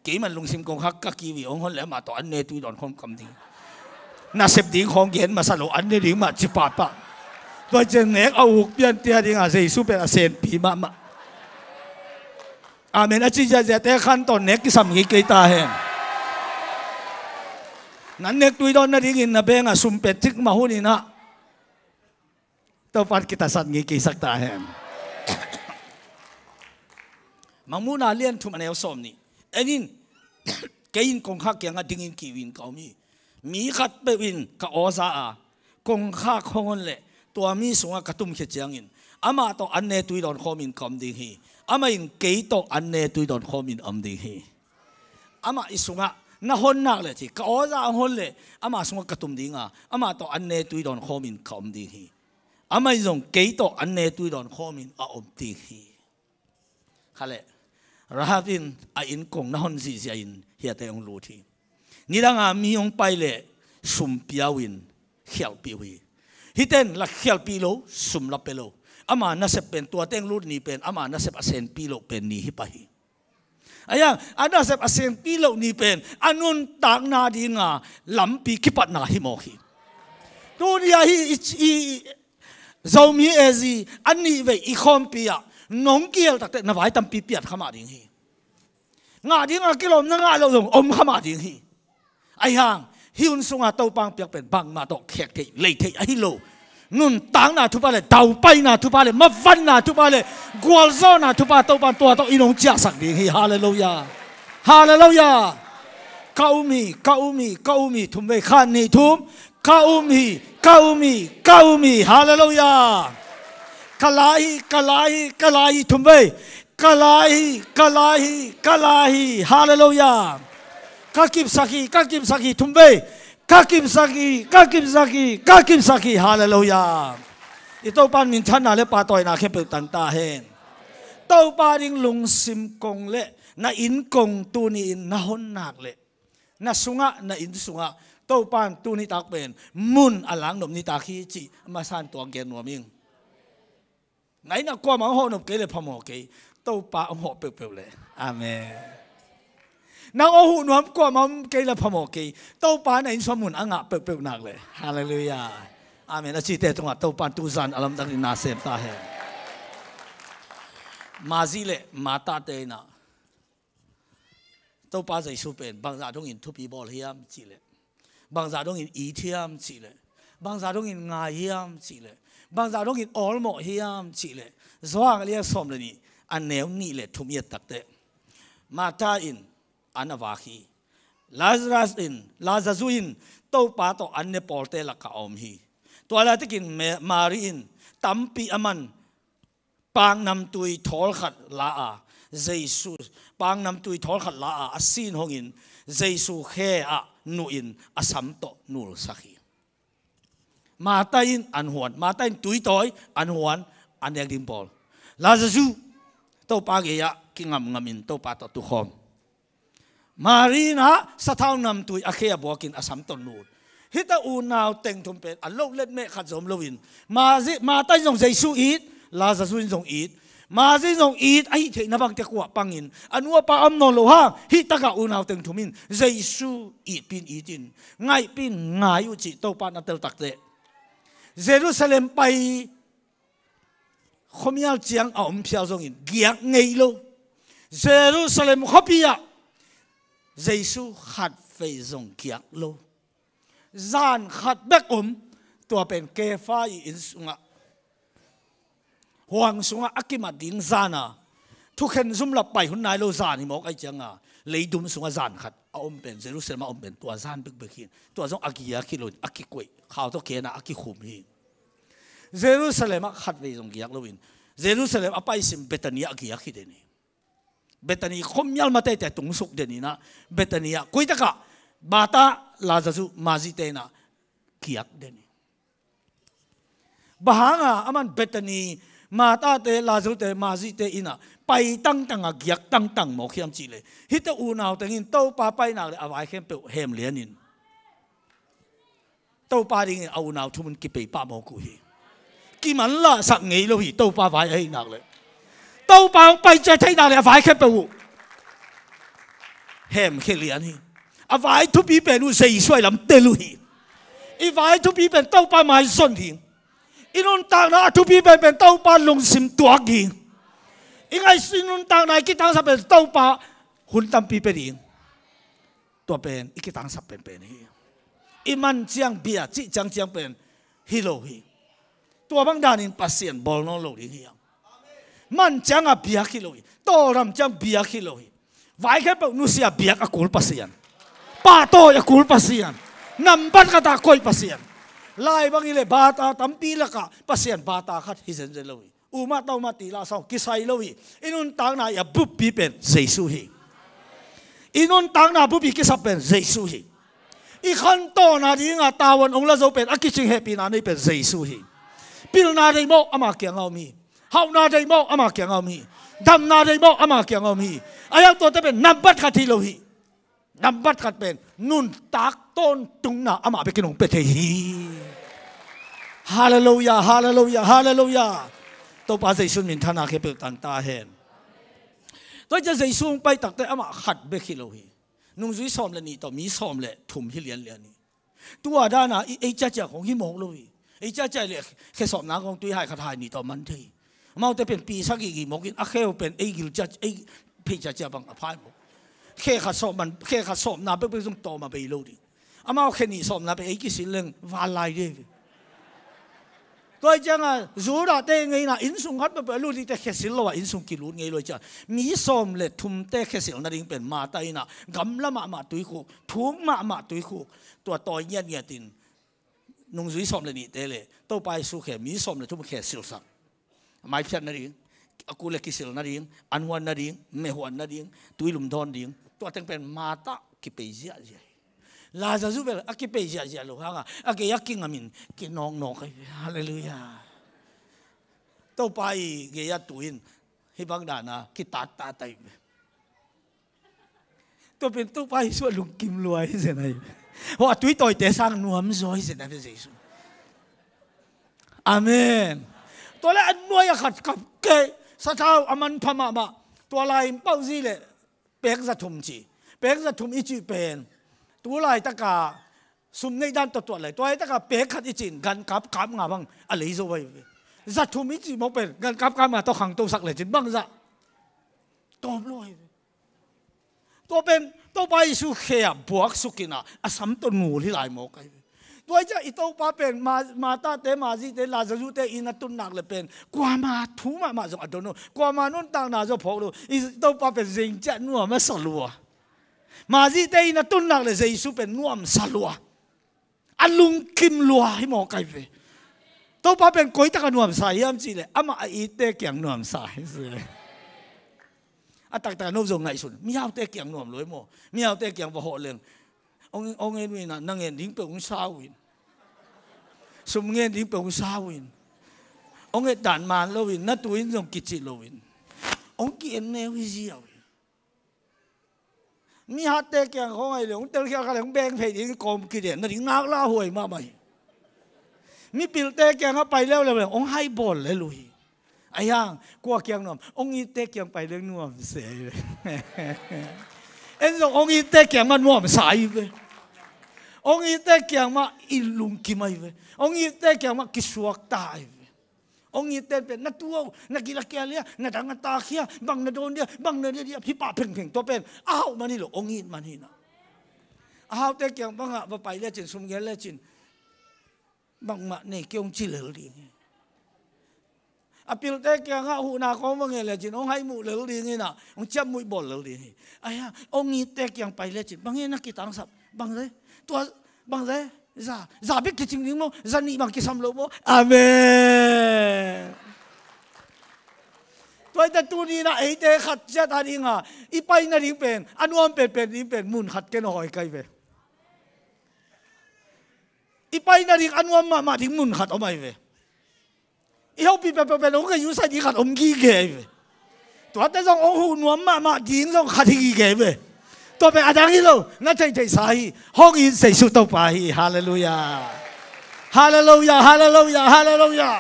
"Keiman lungsim kongkhak ka kiu hi, hong hon leh amah tawh an ne tui dawn khawm ka om ding hi. Nasep ding khawng gen masa lo, an ne ding mah," ci pahpah. Tua ciang nek a uk piante a dingah Jesu pen a senpi mahmah. Amen a ci ziahziahte khan tawh nek kisam ngei kei ta hen. Nan nek tui dawn nadingin na bengah sum pen cikmah hun in ah, Topa in kitasat ngei kei sak ta hen. Mangmuhna lian thum, a neu sawm nih. "En in, kei in kongkhak kiangah dingin kiu in ka om hi. Mi khatpeuh in ka aw za a, kongkhak hong hon leh, tua mi sungah ka tumkhia ciangin amah tawh an ne tui dawn khawmin ka om ding hi. Amah in kei tawh an ne tui dawn khawmin om ding hi." Amah i sungah na hon nak leh, ci, "Ka aw za hong hon leh, amah sungah ka tum ding a, amah tawh an ne tui dawn khawmin ka om ding hi. Amah in zong kei tawh an ne tui dawn khawmin a om ding hi." Kha leh, Rahab in a inn kong na hon zihziah in hiate hong lut hi. Nidanga mi hong pai leh sum pia uh in khialhpih uh hi. Hihte in la khialhpih lo, sum la pia lo. Ama nasep pen, tua teng lut ni pen ama nasep a senpi loh pen ni hi pah hi. Ahi hang a nasep a senpi loh ni pen a nuntakna dinga lampi kipatna hi mawk hi. Tuni ahi i, i, Zomi ezi a nih vei i khawmpi ah nong kihel takteh na vai tampi piat kha mah ding hi. Ngah dinga kilawm na ngah loh zong om kha mah ding hi. Ahi hang hih hun sungah Topa hong piak pen bangmah tawh khek theih lei theih ahi lo. Nuntakna thupha le, daupaina thupha le, mavanna thupha le, gualzawhna thupha, Topa in tua tawh i nong ciahsak ding hi. Halleluiah. Halleluiah. Ka um hi, ka um hi, ka um hi, thum vei, khat, nih, thum. Ka um hi, ka um hi, ka um hi. Halleluiah. Ka lai hi, ka lai hi, ka lai hi, thum vei. Ka lai hi, ka lai hi, ka lai hi. Halleluiah. Ka kipsak hi, ka kipsak hi, thum vei. Ka kipsak hi, ka kipsak hi, ka kipsak hi. Halleluiah. I Topa in minthanna le pahtawina khempeuh tang ta hen. Topa ding lungsim kong le na inn kong tuni in na hon nak leh, na sungah, na inn sungah Topa in tuni tak pen mun a lak nop ni tak hi cih masa in tuak gen nuam ing. Na inn ah kuamah hong hawh nop kei le phamawh kei, Topa hong hawh peuhpeuh le. Amen. Nang hong huh nuam kuamah om kei le phamawh kei, Topa na inn sungah mun a ngah peuhpeuh nak le. Halleluiah. Amen. A cite tungah Topa in tuzan a lamdang in na sem ta hen. Mari le Martha te in ah Topa Jesu pen bangzah dongin thupi bawl hiam cih leh, bangzah dongin it hiam cih leh, bangzah dongin ngai hiam cih leh, bangzah dongin awlmawh hiam cih leh, Johan a lian sawm le nih, a neu nih le thum i et takteh, Martha in an a vak hi. Lazarus in, Lazarus in Topa tawh an ne pawlte lakah a om hi. Tua laitakin Me-, Mari in tampi a man paknamtui thawl khat la a, Jesu, paknamtui thawl khat la a, a sin hongin Jesu khe ah nuhin a sam tawh nulsak hi. Martha in an huan, Martha in tui tawi, an huan, an nek ding bawl. Lazarus, Topa gei-ah kingamngamin Topa tawh tukhawm. Mari in ah sathau namtui a khe ah buakin a sam tawh nul. Hihte unau teng thum pen a lo let meh khat zom loin, Mazi, Martha in zong Jesu it, Lazarus in zong it. Mazi in zong it, a hih theihna bangte kuah pangin, a nu a pa om nawn lo hang, hih takah unau teng thum in Jesu itpi in it in, ngaihpi in ngai uh cih Topa na tel takteh, Jerusalem pai khuamial ciang a om phial zongin giak ngei lo. Jerusalem khuapi ah Jesu khatvei zong giak lo. Zan khat bek om, tua pen Kefa i inn sungah, huang sungah a kimat ding zan a, thukhen zum lah pai hun nai lo zan hi mawk ahih cianga, leidum sungah zan khat a om pen, Jerusalem a om pen tua zan bekbek hi. Tua zong a giak hi lo, a kikuaih, khau tawh kena a kikhum hi. Jerusalem ah khatvei zong giak loin, Jerusalem a paisim Bethany ah giak hi den hi. Bethany khuamial ma teitei tungsuk den inah, Bethany ah, koi takah Martha, Lazarus, Mazi te inah giak den hi. Bang hanga aman Bethany, Martha te, Lazarus te, Mazi te inah pai tangtang a giak tangtang mawk hiam cih leh, hihte unau tengin Topa pai nak leh a vai khempeuh hem lianin Topa dingin a unau thum un kipei pah mawk uh hi. Kimanlahsak ngei lo hi, Topa vai ahih nak leh. Topa hong pai ciat theih nak leh a vai khempeuh uh hem khia lian hi. A vai thupi pen uh Jesu ahi lam tel uh hi. I vai thupi pen Topa mai zon hi. I nuntakna a thupi pen pen Topa lungsim tuak hi. I ngaihsun nuntakna i kitangsap pen Topa hun tampi pe ding. Tua pen i kitangsap penpen hi. I man ciang bia cih ciangciang pen hi lo hi. Tua bang danin Pasian bawl nawn lo ding hi. Man cianga biak hi lo hi. Tawldam ciang biak hi lo hi. Vai khempeuh nusia biak a kul Pasian. Pahtawi a kul Pasian. Nambat khatah koih Pasian. Lai bang hi leh bata tampi lakah Pasian bata khat hi zenzen lo hi. Umah taumah ti lah sawng kisai lo hi. I nuntakna i a buppi pen Jesu hi. I nuntakna buppi kisap pen Jesu hi. I khantohna dinga tavuan ong la zo pen a kicing hehpihna nei pen Jesu hi. Pilna deih mawh ama kianga om hi. Hauhna deih mawh ama kianga om hi. Damna deih mawh ama kianga om hi. A hiau tuate pen nambat khat hi lo hi. Nambat khat pen nuntak tawntungna amah bekin hong pia thei hi. Halleluiah, halleluiah, halleluiah. Topa Jesu minthanna khempeuh tang ta hen. Tua ciang Jesu hong pai takte amah khat bek hi lo hi. Nungzui sawm le nih tawh mi sawm le thum hi lianlian hi. Tua dana i ei ciacia khong hi mawk lo hi. Ei ciacia le khesawpna khong tuihai khat hai nih tawh man thei. Amaute pen pisa gigi mawkin a kheu pen ei gil cia, ei phei ciacia bang a phai mawk. Khe khat sawp man, khe khat sawpna bekbek zong tawm a bei lo ding. Amau khe nih sawpna pen ei kisil leng val lai ding. Tua hi cianga Judah te ngeina innsung khat peuhpeuh a lut dingte khesil lo a innsung kilut ngei lo hi cianga mi sawm le thumte khesil nading pen Martha ina gamla mahmah tuikhuk, thuk mahmah tuikhuk, tua tawi ngiatngiatin nungzui sawm le nihte le Topa Jesu khe mi sawm le thum khesilsak. Maiphiat nading, a kul le kisil nading, an huan nading, meh huan nading, tuilum dawn ding, tua teng pen Martha kipei ziahziah hi. Lazarus bel a kipei ziahziah lo hanga a gei a kingamin kinawknawk ahi ve. Halleluiah. Topa i gei a tu in hih bang dana kitattat ahi ve. Tua pen Topa Jesu a lungkim lua hi zen ahi ve. Hua a tuitawite sang nuamzaw hi zen ahi ve Jesu. Amen. Tua le a nuai a khat kap kei, sathau a manpha mahmah. Tua lai in pauzi le pek za thum ci. Pek za thum i cih pen tu laitaka sum neih dan tawh tuat lai. Tua laitaka pek khat i cih in gan kap kap nga bang a lei zo ahi ve. Za thum i cih mawk pen gan kap kap nga tawh khangtosak lecin bang zah tawm lo ahi ve. Tua pen Topa Jesu khe ah buaksuk ina a sam tawh nul hi lai mawk ahi ve. Tua hi ciah i Topa pen Ma-, Martha te, Mazi te, Lazarus te inn a tun nak le pen kuama thu mahmah zong a don lo, kuama nuntakna zong phawk lo. I Topa pen zeng ciah nuam a sa lua. Mazi te inn a tun nak le Jesu pen nuamsa lua. A lungkim lua hi mawk ahi ve. Topa pen koi taka nuamsa hiam cih le amah a itte kiang nuamsa hi si. A taktak no zong ngaihsun, mihaute kiang nuam lo hi maw? Mihaute kiang va hawh leng ong, ong en uh ina, na ngen ding peuh ong sa uh in, sum ngen ding peuh ong sa uh in, ong et dan man lo in, na tu in zong kicih lo in, ong ki-en neu hi ziau in. Mi hatte kiang khawng ahi le hong telkhial kha le hong beng phei ding kawm kiden nading ngaklah huai mahmah hi. Mipilte kiangah pai leuleu le hong hai bawl lel uh hi. Ahi hang kua kiang nuam? Hong itte kiang pai leng nuam se hi ve. En zong hong itte kiang mah nuamsa hi ve. Hong itte kiang mah i lungkim ahi ve. Hong itte kiang mah kisuakta ahi ve. Hong itte pen na tu aw, na gil a kial hia, na dang a tak hia, bang na dawn dia, bang na dia dia, hih pah phengpheng tua pen a hauh man hi lo, hong it man hi na. A haute kiang bangah va pai lecin, sum gel lecin, bangmah nei kei hong ci lel ding hi. A pilte kiangah huhna khawng va ngen lecin hong hai muh lel ding hi na, hong ciap muih bawl lel ding hi. Ahi hang hong itte kiang pai lecin, bang hi na kitangsap? Bang ze? Tua bang ze? Za, za bek kicing ding maw? Za nih bang kisam lo maw? Amen. Tua hi teh tuni na eite khat ciat a ding a i pai nading pen a nuam penpen ding pen mun khat ken a hawi kai ve. I pai nading a nuam mahmah ding mun khat om ahi ve. I hopih peuhpeuh pen hong ka yusai ding khat om gige ahi ve. Tuate zong hong huh nuam mahmah ding zong khat hi gige ahi ve. Tua pen a dang hi lo, na theihtheihsa hi. Hong it Jesu Topa hi. Halleluiah. Halleluiah, halleluiah, halleluiah.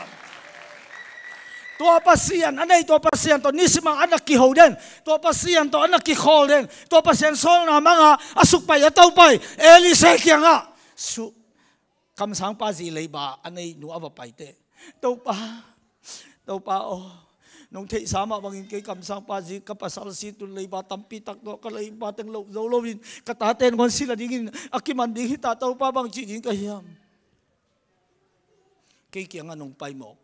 Tua Pasian a nei, tua Pasian tawh nisim a na kiho den, tua Pasian tawh a na kikhawl den, tua Pasian sawlna manga a sukpai a topai Elisha kiangah su kamsangpa zi leiba a nei nu a va paite. Topa, Topa aw, nong theihsa mah bangin kei kamsangpa zi ka pasal si tun leiba tampi tak tawh ka leiba teng loh zo loin ka tate nangawn si la dingin a kiman ding hita, Topa bang ci ding ka hiam? Kei kiangah nong pai mawk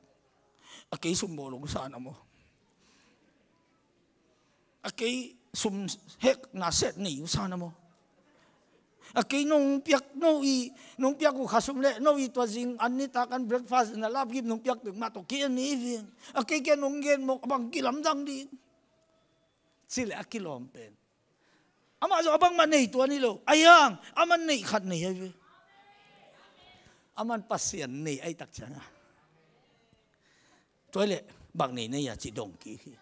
a kei sum bawl hong sa na maw? A kei sum hek na set nei uh sa na maw? A kei nong piak no i, nong piak uh khasum le no i tua zing an nitak an breakfast na lapgip nong piak tek mah tawh kei a nei veng. A kei kia nong gen mawk a bang kilamdang ding. Ci le a kilawm pen amah zong a bangmah nei tuan hi lo. Ahi hang aman neih khat nei ahi ve. Aman Pasian nei ahi tak cianga. Tua hi leh bang nei nei a ci dong kik hi.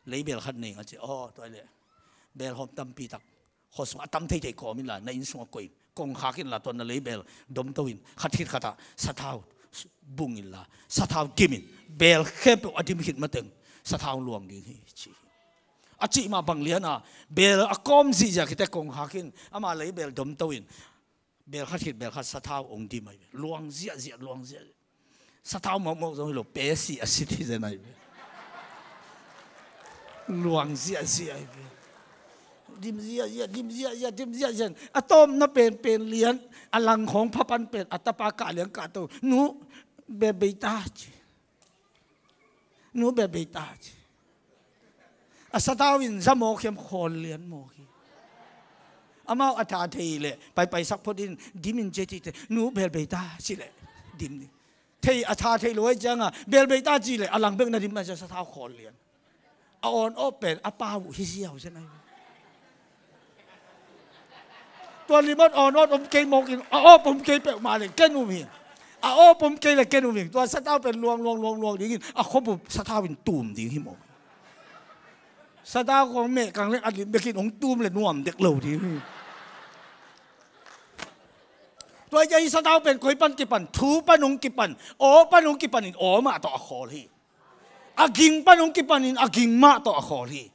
Leibel khat nei nga ci, aw tua hi leh bel hawm tampi tak khuasung a tam theithei kawm inla na inn sungah koih in, kongkhak inla tua na leibel domto in khat khit khatah sathau bung inla sathau dim in, bel khempeuh a dim khit mateng sathau luang ding hi ci hi. A cih mah bang liana bel a kawm zihziah khit teh kongkhak in ama leibel domto in bel khat khit bel khat sathau hong dim ahi ve. Luang ziahziah, luang ziahziah. Sathau mawkmawk zong hi lo, pesi a sit hi zen ahi ve. Luang ziahziah ahi ve. Dim ziahziah, dim ziahziah, dim ziahziah. A tawpna penpen lian a lang khawng phapan pen a tapa kah lian kahto, nu, bel bei ta ci. Nu, bel bei ta ci. A sathau in za mawk hiam, khawl lian mawk hi. Amau a tha thei leh paipaisak phot in dim in ci a cih teh, nu, bel bei ta ci leh dim ding. Thei a tha thei lo ahi cianga bel bei ta ci leh a lang bek na dim a ci a sathau khawl lian. A awn awp pen a pa uh hi ziau zen ahi. Tua limot awn awp om kei mawk in a awp om kei peuhmah le ken um hi. A awp om kei le ken um hi. Tua sathau pen luang luang luang luang dingin a khuabup sathau in tum ding hi mawk. Sathau khawng mehkang le a lim bekin hong tum le nuam dek lo ding hi. Tua hi a i sathau pen koi pan kipan, thu pan hong kipan, aw pan hong kipan in aw mah tawh a khawl hi. A ging pan hong kipan in a ging mah tawh a khawl hi.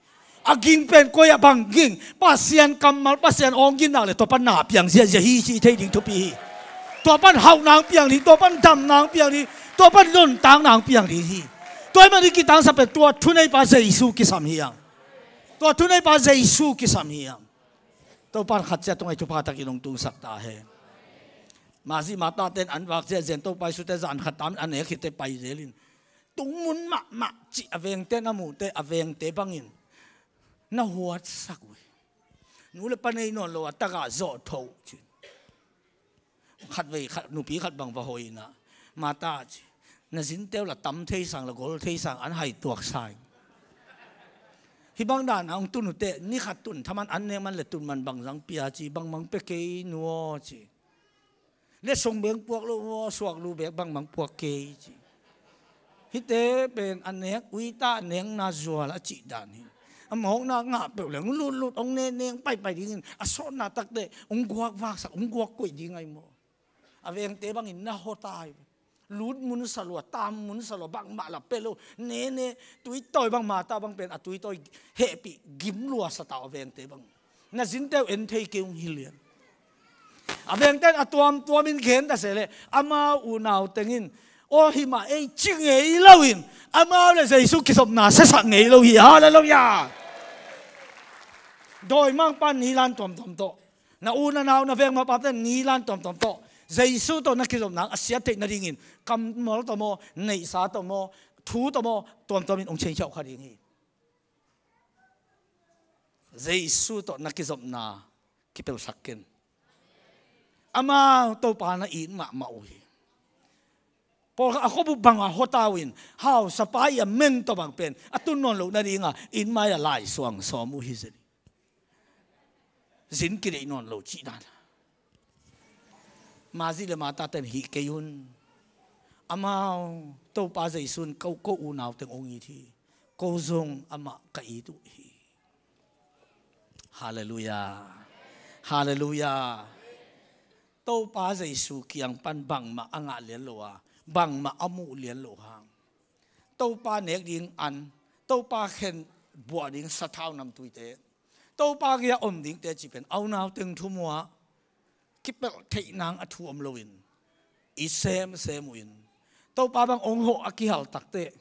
A ging pen koi ah bang ging? Pasian kammal, Pasian awng ginna le tua pan na piang ziahziah hi cih thei ding thupi hi. Tua pan hauhna hong piang ding, tua pan damna hong piang ding, tua pan nuntakna hong piang ding hi. Tua ahih manin kitangsap pen tua thuneipa Jesu kisam hi hang. Tua thuneipa Jesu kisam hi hang. Topan khat ciat tungah i thupha takin hong tungsak ta hen. Masi Mataten an vak ziahziah in Topa Jesu te zan khat tam an nek khit teh pai zel in, tungmun mahmah cih a vengte na muh teh a vengte bangin na huatsak uh hi. Nu le pa nei nawn lo a tagah zawh tho uh ci. Khatvei khat, nupi khat bang va hawina, Mata ci, na zinte uh la tam thei sang, la gol thei sang an hai tuak sa ing. Hih bang dan a hong tun uh teh ni khat tun thaman an nek man le tun man bang zang pia ci, bangmang pia kei nu aw ci. Le song beng puak lo maw, suak lu bek bangmang puak kei ci. Hihte pen a nek uita a nekna zual a cih dan hi. A mawkna ngah peuh leng lutlut, hong nene, hong paipai dingin a sawtna takte hong guak vaksak, hong guak koih ding ahi maw? A vengte bangin na hawtai. Lut mun sa lua, tam mun sa lua, bangmah la pia lo. Nene, tuitawi bang, Martha bang pen a tuitawi hehpih gim lua sa ta uh a vengte bang. Na zinte uh en thei kei ung hi lian. A vengte in a tuamtuamin gen ta se leh, amau unau tengin, aw hi mah ei ci ngei loin, amau le Jesu kizopna siasak ngei lo hi. Halleluiah. Dawimangpa nilan tuamtuam tawh, na u na nau na veng mapate nilan tuamtuam tawh, Jesu tawh na kizopna a siat theih nadingin kammal tawh maw, neihsa tawh maw, thu tawh maw, tuamtuamin hong change kha ding hi. Jesu tawh na kizopna kipelsak ken. Amau Topa na it mahmah uh hi. Pawlkhat a khuabup banga hawta uh in, hausapa i a meng tawh bang pen a tun nawn loh nadinga inn mai-ah laisuang sawm uh hi zen hi. Zin kideih nawn lo cih dan. Mari le Martha ten hih kei un. Amau Topa Jesu in ko, ko unau teng hong it hi. Ko zong amah ka it uh hi. Halleluiah. Halleluiah. Topa Jesu kiang pan bangmah a ngah lian lo a, bangmah a muh lian lo hang, Topa nek ding an, Topa khen buah ding sathau namtuite, Topa gei-ah om dingte cih pen a unau teng thu muah kipelh theih nang a thu om loin i semsem uh in, Topa bang hong hawh a kihal takteh,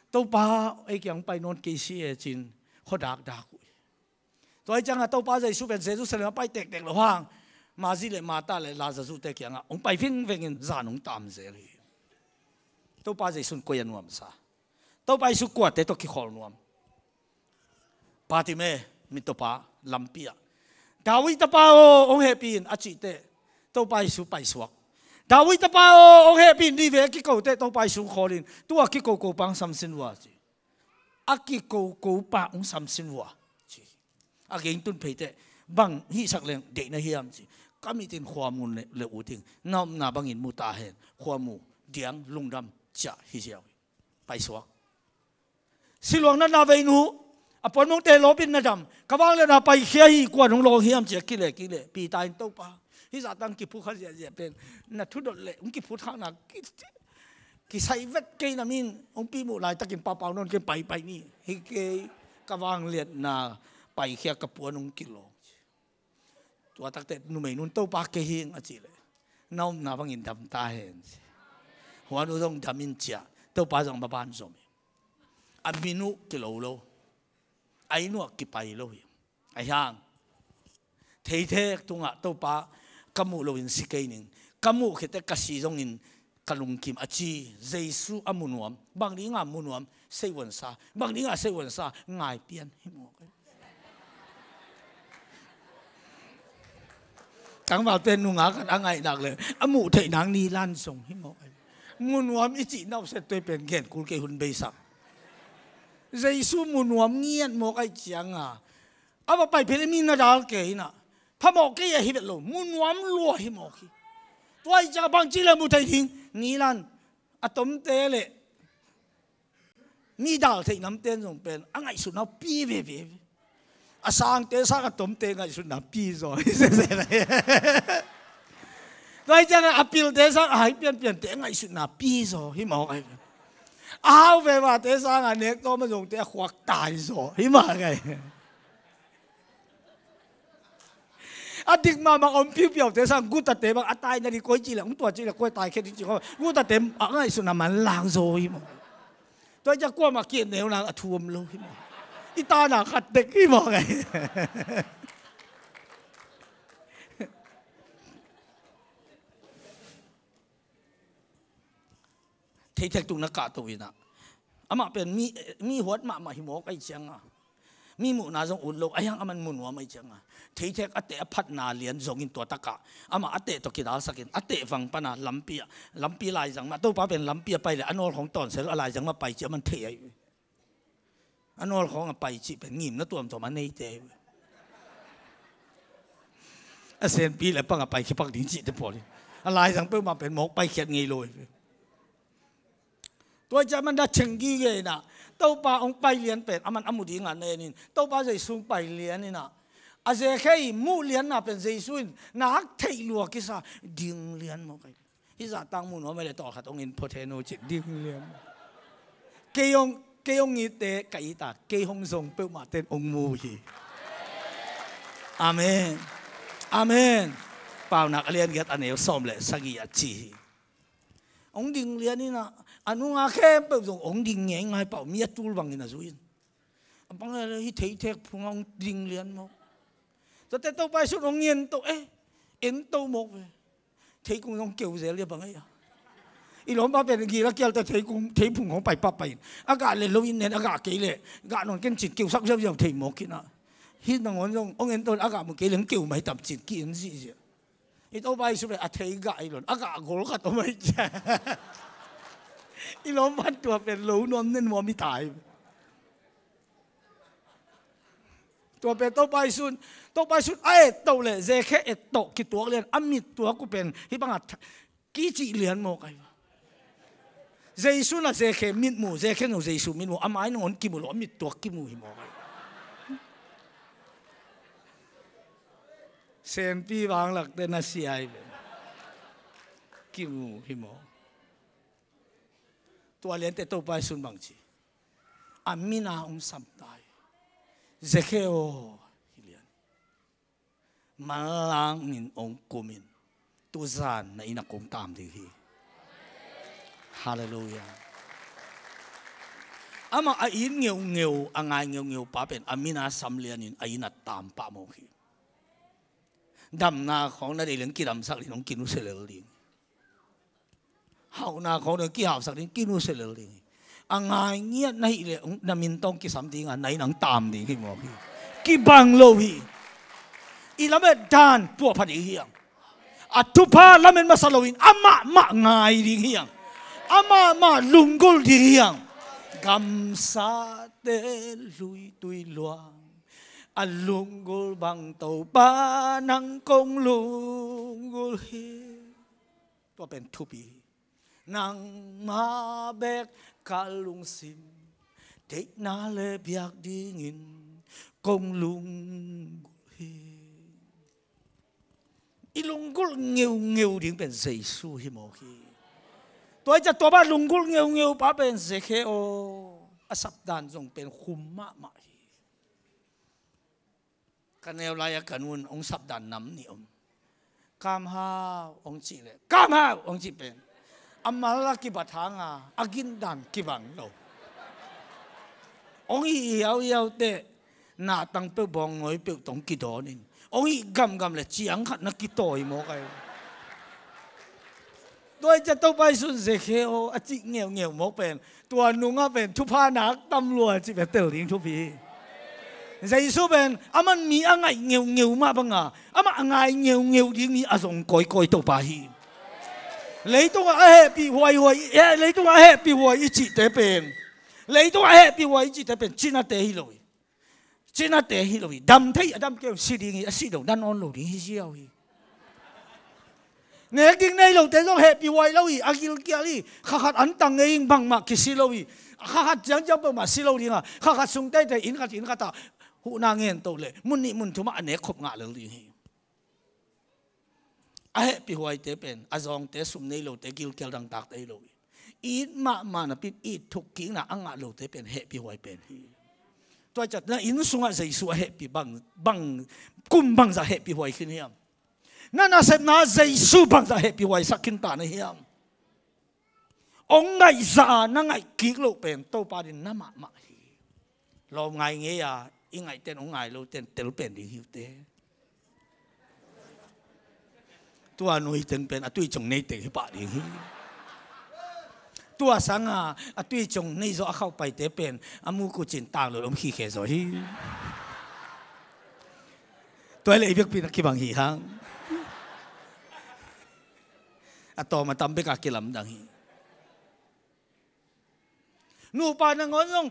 Topa ei kiang pai nawn kei si e ci-in khuadakdak uh hi. Tua hi cianga Topa Jesu pen Jerusalem a pai tektek lo hang, Mari le Martha le Lazarus te kiangah hong pai vingvengin zan hong tam zel hi. Topa Jesu in koi a nuamsa? Topa Jesu kuate tawh kikhawl nuam? Bartimai, mittawpa, lampi ah, David tapa aw, hong hehpih in, a cihteh Topa Jesu paisuak. David tapa aw, hong hehpih in, ni ve a kikohteh Topa Jesu khawlin, tua kikoko pa hong samsin vua ci. A kikoko pa hong samsin vua ci. A gei tun pheiteh, bang hihsak leng deih na hiam ci. Ka mitin khuamu le, le uting, na omna bangin mu ta hen. Khuamu, diang, lungdam, ciah hi ziau hi. Paisuak. Siluang natna vei nu, a puanmongte lawpin na dam, ka vangliatna paikhia hi, kuan hong lawng hiam ci a kile kile. Peter in Topa, hih zah tang kiphut kha ziahziah pen, na thudot leh hong kiphut khakna ki, kisai vet kei na min, hong pi muh laitakin papau nawn kei paipai ni. Hi kei, ka vangliatna paikhia, ka puan hong kilawng. Tua takte numei nun Topa kei hing a cih leh, na omna bangin dam ta hen ci. Huan uh zong dam in ciah, Topa zong maban zom hi. A min uh kilo lo. A inn uh ah kipai lo hi. Ahi hang, theithek tungah Topa ka muh loin si kei ning. Ka muh khitteh ka si zongin ka lungkim a ci. Jesu a mu nuam. Bang dinga mu nuam? Seivuansa. Bang dinga seivuansa? Ngai pian hi mawk. Tangvalte nungak khat a ngaihnak le a muh theih nang nilan zong hi mawk. Mu nuam i cih nauset tuai pen gen kul kei hun beisak. Jesu mu nuam ngiat mawk ahih cianga, a va pai phel i mi na dal kei inah, phamawh kei a hi vet lo, mu nuam lua hi mawk hi. Tua ahih cianga bangci le mu thei ding? Nilan a tomte le mi dal theih namte zong pen a ngaihsutna pi veve. A sangte sang a tomte ngaihsutna pi zaw hi sese lai. Tua ahih cianga a pilte sang a hai pianpiante a ngaihsutna pi zaw hi mawk ahi. A hau vevate sanga nek tawm a zongte a khuak tai zaw hi mawk ahi. A dik mahmah om piupiaute sang gutate bang a taina ding koi cih leh hong tua cih leh koi taikhia ding cih khaw gutate a ngaihsutna manlang zaw hi mawk. Tua ahih ciang kuamah kiat neu nang a thu om lo hi mawk. I tana khat tek hi mawk ahi. Theithek tung na kahto inah, amah pen mi, mi huat mahmah hi mawk ahih cianga, mi muhna zong ut lo, ahi hang aman mu nuam ahih cianga, theithek a teh a phatna lian zongin tua takah amah a teh tawh kidalsakin a teh vang pana lampi ah, lampi laizang mah, Topa pen lampi a pai le a nawlkhawng tawnsia lo, a laizang mah pai ci aman thei ahi. A nawlkhawng a pai cih pen ngimna tuamtuam a neite hi ve. A senpi le pang a pai khia pak ding cihte pawl hi. A laizang peuhmah pen mawk paikhiat ngei lo hi ve. Tua ciah man dah cheng gige inah, Topa hong pai lian pen aman a mu dingah na en in, Topa Jesu hong pai lian inah, a Zekhe i muh lianna pen Jesu in nak theih lua kisa, ding lian maw kai. Hih zahtak mu nuam a le tawlkhat hong in phot hen uh cin, ding lian. Kei hong, kei hong itte ka it a, kei hong zong peuhmah ten hong mu hi. Amen. Amen. Paunak a lian giat a neu sawm le sagih a ci hi. Hong ding lian inah, a nunga khempeuh zong hong ding ngeingai pah uh, mi a tul bangin a zui in. A bang le hih theithek phungah hong ding lian mawk. Tuate Topa Jesu in hong ento, eh, ento mawk ve. Theikung zong keu zel dia bang ei a. I lawmpa pen gil a kial ta theikung, theiphung hong pai pah pai in. A gah le lo in nen, a gah kei le gah nawn ken cin keusak ziauziau thei mawk inah. Hih nangawn zong hong ento in a gah mu kei le hong keu mai tam cin ki-en zihziah. I Topa Jesu pen a thei gah i lon, a gah gol khat om ahi cia. I lawmpan tua pen lo nuam ne nuam i tai. Tua pen Topa Jesu in, Topa Jesu in a ettoh le Zekhe ettoh kituak lian a mittuak uh pen hih bangah kicih lian maw kai. Jesu in a Zekhe mitmu, Zekhe in zong Jesu mitmu, a mai nangawn kimu lo, a mittuak kimu hi maw kai. Senpi vanglakte na sia hi ve. Kimu hi maw. Tua liante Topa Jesu in bang ci, a mina hong sam ta hi. Zekhe aw, hi lian. Manlangin hong kum in, tuzan na inn ah kong tam ding hi. Halleluiah. Amah a it ngeungeu, a ngai ngeungeu pa pen a mina sam lianin a inn ah tam pah mawk hi. Damna khawng na deih leng kidamsak ding, hong kinusia lel ding. Hauhna khawng ding kihauhsak ding, kinusia lel ding hi. A ngai ngiat na hih leh na min tawh kisam ding a, na inn ah tam ding hi mawk hi. Kibang lo hi. I lamet dan tuahpha ding hi hang. A thupha lamet masa loin amah mah ngai ding hi hang. Amah mah lunggulh ding hi hang. Gamsate luitui luang, a lunggulh bang Topa nang kong lunggulh hi. Tua pen thupi hi. Nangmah bek ka lungsim, deihna le biak dingin kong lunggulh hi. I lunggulh ngeungeu ding pen Jesu hi mawk hi. Tua hi ciah tua bang lunggulh ngeungeu pa pen Zekhe aw, a sapdan zong pen khum mahmah hi. Ka neu lai-a ka nu in hong sapdan nam nih om. Kam hau hong cih leh, kam hau hong cih pen a mal a kibat hanga a gindan kibang lo. Hong hih hiauhiau teh, nahtang peuh, bawngngawi peuh tawh hong kidawn in, hong hih gamgam leh ciang khat na kitawi mawk ai. Tua hi ciah Topa Jesu in Zekhe aw a cih ngeungeu mawk pen, tua nungah pen thupha nak tam lua cih pen tel ding thupi hi. Jesu pen aman mi a ngaih ngeungeu mah banga, amah a ngai ngeungeu ding mi a zong kawikawi Topa hi. Leitungah a hehpih huaihuai, eh, leitungah a hehpih huai i cihte pen, leitungah a hehpih huai i cihte pen cinate hi lo hi. Cinate hi lo hi. Dam thei a dam kei uh si ding hi, a si lo dan awn lo ding hi ziau hi. Nek ding nei lote zong hehpih huai lo hi, a gilkial hi. Kha khat antang ngei in bangmah kisi lo hi. Kha khat ciangciang peuhmah si lo ding a, kha khat sung teitei inn khat inn khat ah huhna ngen to leh mun nih mun thum ah a nek khop ngah lel ding hi. A hehpih huaite pen a zawngte, sum nei lote, gilkial dangtakte hi lo hi. It mahmah napi in it thuk kikna a ngah lote pen hehpih huai pen hi. Tua hi ciah na inn sungah Jesu a hehpih bang, bang, kum bangzah hehpih huai khin hiam? Na nasepna Jesu bangzah hehpih huaisak khin ta na hiam? Hong ngaihzah a na ngaih kik loh pen Topa ding na mahmah hi. Lawm ngai ngei a i ngaihten hong ngai loten tel pen ding hi uh te. Tua nui teng pen a tui cong nei teng hi pah ding hi. Tua sanga a tui cong nei zawh a khauh paite pen a muk uh cin tang lo om khikhe zaw hi. Tua hi leh i biakpi na kibang hi hang. A tawm a tam bek a kilamdang hi. Nupa nangawn zong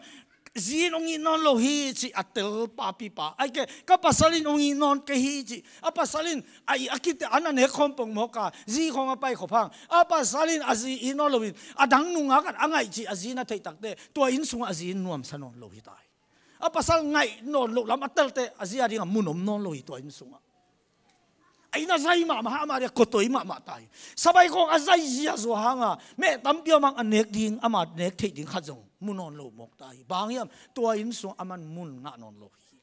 zi in hong it nawn lo hi cih a tel papipa. Ahih kei leh ka pasal in hong it nawn kei hi cih. A pasal in a it a kite a na nek khawm pongmawk a, zi khawng a pai khop hang. A pasal in a zi it nawn lo in a dang nungak in a ngaih cih a zi na theih takteh tua inn sungah a zi in nuamsa nawn lo hi ta hi. A pasal ngaih nawn loh lam a telte a zi a dingah mun om nawn lo hi tua inn sungah. A inn a zai mahmah, amah dia kotoi mahmah ta hi. Sabai khawng a zai ziahziah hanga meh tampi om hang a nek ding, ama nek theih ding khat zong mu nawn lo mawk ta hi. Bang hiam? Tua inn sungah aman mun ngah nawn lo hi.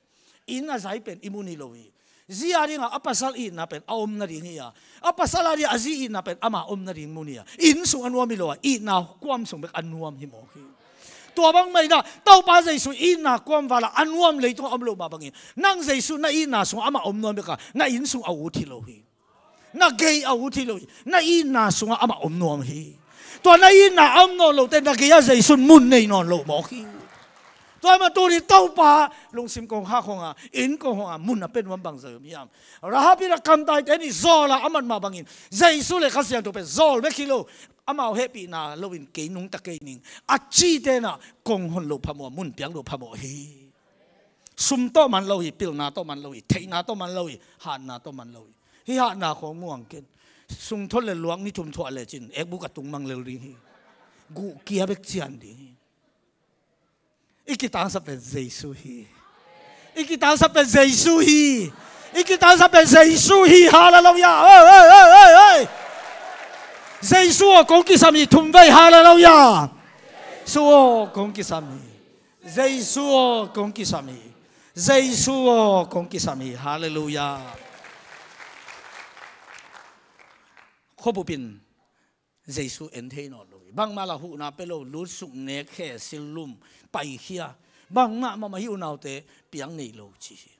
Inn a zai pen i mun hi lo hi. Zi a dingah a pasal itna pen a om nading hi a, a pasal a dingah a zi itna pen ama om nading mun hi a, inn sung a nuam hi lo a, itna kuam sung bek a nuam hi mawk hi. Tua bang mah in ah Topa Jesu itna kuam vala a nuam leitungah om loh mah bangin nang Jesu na itna sungah amah om nuam bek a, na inn sung a ut hi lo hi. Na gei a ut hi lo hi. Na itna sungah amah om nuam hi. Tua na itna a om nawn lote na gei-ah Jesu in mun nei nawn lo mawk hi. Tua ahih manin tuni Topa lungsim kong hak khawng a, inn kong khawng a mun a pia nuam bangzah om hiam? Rahab in a kamtaite nih zawl a a mat mah bangin Jesu le Kha Siangtho pen zawl bek hi lo, amau hehpihna loin kei nungta kei ning a cihte in ah kong hon loh phamawh, mun piak loh phamawh hi. Sum tawh man lo hi, pilna tawh man lo hi, theihna tawh man lo hi, hatna tawh man lo hi. Hih hatna khawng muang ken. Sungthawn le luak ni thum thuah lecin ekbuk a tung mang lel ding hi. Guhkia bek cian ding hi. I kitangsap pen Jesu hi. I kitangsap pen Jesu hi. I kitangsap pen Jesu hi. Halleluiah. Oi, oi, oi, oi, oi. Jesu aw kong kisam hi thum vei. Halleluiah. Jesu aw kong kisam hi. Jesu aw kong kisam hi. Jesu aw kong kisam hi. Halleluiah. Khuabup in Jesu en thei nawn lo hi. Bangmah lah huhna pia lo, lutsuk, nek, khe, sil, lum, paikhia, bangmah mahmah hi. Unaute, piang nei lo ci hi.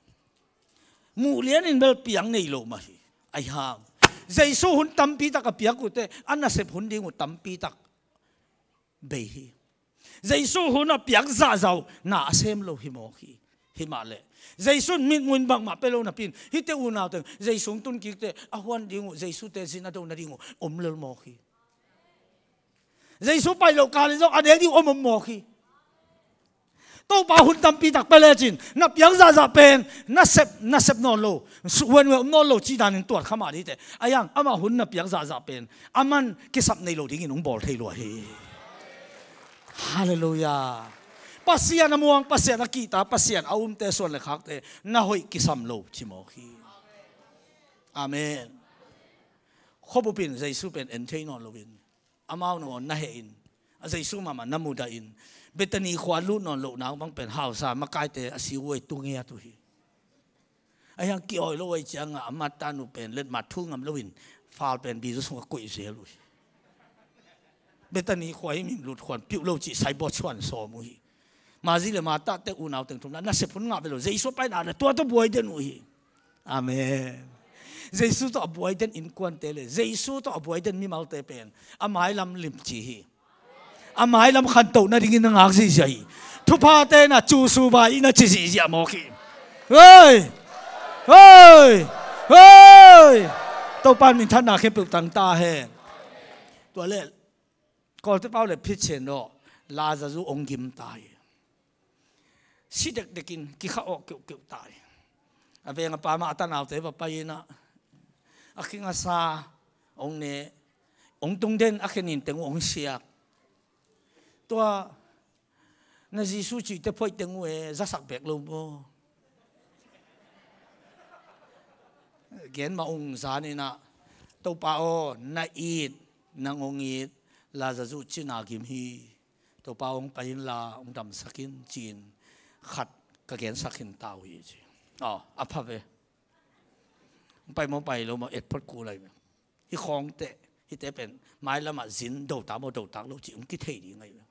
Muh lian in bel piang nei lo mah hi. Ahi hang Jesu hun tampi tak a piak uh teh a nasep hun ding uh tampi tak bei hi. Jesu hun a piak zahzah uh na a sem lo hi mawk hi. Himah leh Jesu in mitmuh in bangmah pia lo napi in hihte unaute Jesu hong tun kik teh a huan ding uh, Jesu teh zin a do nading uh om lel mawk hi. Jesu pai loh kal in zong a nek ding uh om om mawk hi. Topa hun tampi tak pia lecin na piak zahzah pen nasep, nasep nawn lo, huan huan om nawn lo cih danin tuat kha mah ding teh. Ahi hang amah hun na piak zahzah pen aman kisap nei lo dingin hong bawl thei lua hi. Halleluiah. Pasian a muang, Pasian a kihta, Pasian a umte suan le khakte na hoih kisam lo ci mawk hi. Amen. Khuabup in Jesu pen en thei nawn loin amau nangawn na heh in, a Jesu mahmah na mudah in, Bethany khua lut nawn lohna bang pen hausa makaite a siuhuai tu ngiat uh hi. Ahi hang ki-awi lo uh ahih ciangah a Martha nu pen letmat thu ngam loin fal pen bizu sungah koih zel uh hi. Bethany khua hi ming lut khuan piuh lo cih saibawt suan sawm uh hi. Mari le Martha te unau teng thum na nasep hun ngah ve lo, Jesu a paina le tua tawh buai den uh hi. Amen. Jesu tawh a buai den innkuante le Jesu tawh a buai den mimalte pen a mailam limci hi. A mailam khantoh nadingin na ngak ziahziah hi. Thuphate na cusuba i na ci ziahziah mawk hi. Hei! Hei! Hei! Topa in minthanna khempeuh tang ta hen. Tua le Kawlte pau le phit cen dawh Lazarus hong gim ta hi. Si dekdekin kikha awh keuhkeuh ta hi. A veng a pa mah a tanaute va pai in ah a khing a sa hong ne, hong tung den a khe ninteng uh hong siak. Tua na Jesu cihte phoihteng uh e, zasak bek lo maw? Gen mah ung zan in ah, Topa aw, na it, nang hong it, Lazarus cina gim hi. Topa aw, hong pai inla hong damsak in ci-in khat ka gensak khin ta uh hi ci. Aw, a pha ve. Hong pai maw, pai lo maw, et phot kul lai ve. Hih khawngte, hihte pen mailamah zin do ta maw, do tak lo cih hong kithei ding ahi ve.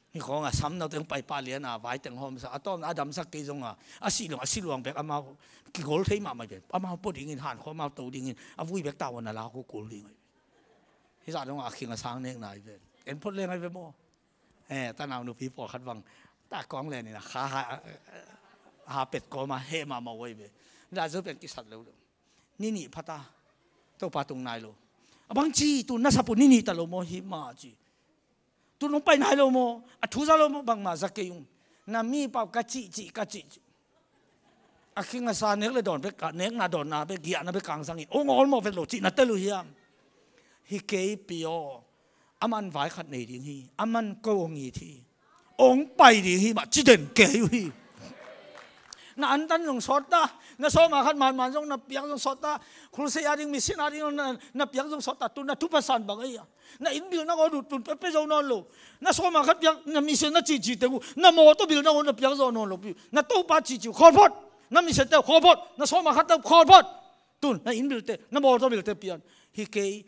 Hih khawngah samnaute hong pai pah lian a, vaiteng hawmsak, a tawpna a damsak kei zongah a sih luang, a sih luang bek amau kigol thei mahmah hi ve. Amau pua dingin, hankhua amau to dingin, a vui bek tavuan a lak uh kul ding ahi ve. Hih zah dongah a khing a sang nekna ahi ve. En phot leng ahi ve maw? Eh, tanau nupi pawlkhat bang ta kawng len in a kha ha, ha pet kawma heh mahmah uh ahi ve. Lazarus pen kisat lo lo. Ni nih phata, Topa tung nai lo. A bang ci, tu na sap uh ni nih ta lo maw, hih mah ci. Tun hong pai nai lo maw? A thu za lo maw? Bangmah za kei ung. Na mi pau ka cihcih, ka cihcih. A khing a sa nek le dawn bek, a nekna dawnna bek, giahna bek kang zangin hong awlmawh vet lo cih na tel uh hiam? Hi kei pi aw. Aman vai khat nei ding hi. Aman ko hong it hi. Hong pai ding hi mah ci den kei uh hi. Na antan zong sawt ta. Na sawma khat manman zong na piak zong sawt ta. Khulsei a ding, misin a ding na, na piak zong sawt ta. Tun na thupasan bang ei a. Na inn bil na ko dut tun pe, pe zo nawn lo. Na sawma khat piak, na misin na cici teng uh. Na mawtaw bil na ko na piak zo nawn lo pi. Na topa cici uh khawl phot. Na misin te uh khawl phot. Na sawma khat te uh khawl phot. Tun na inn bil te, na mawtaw bil te pian. Hi kei,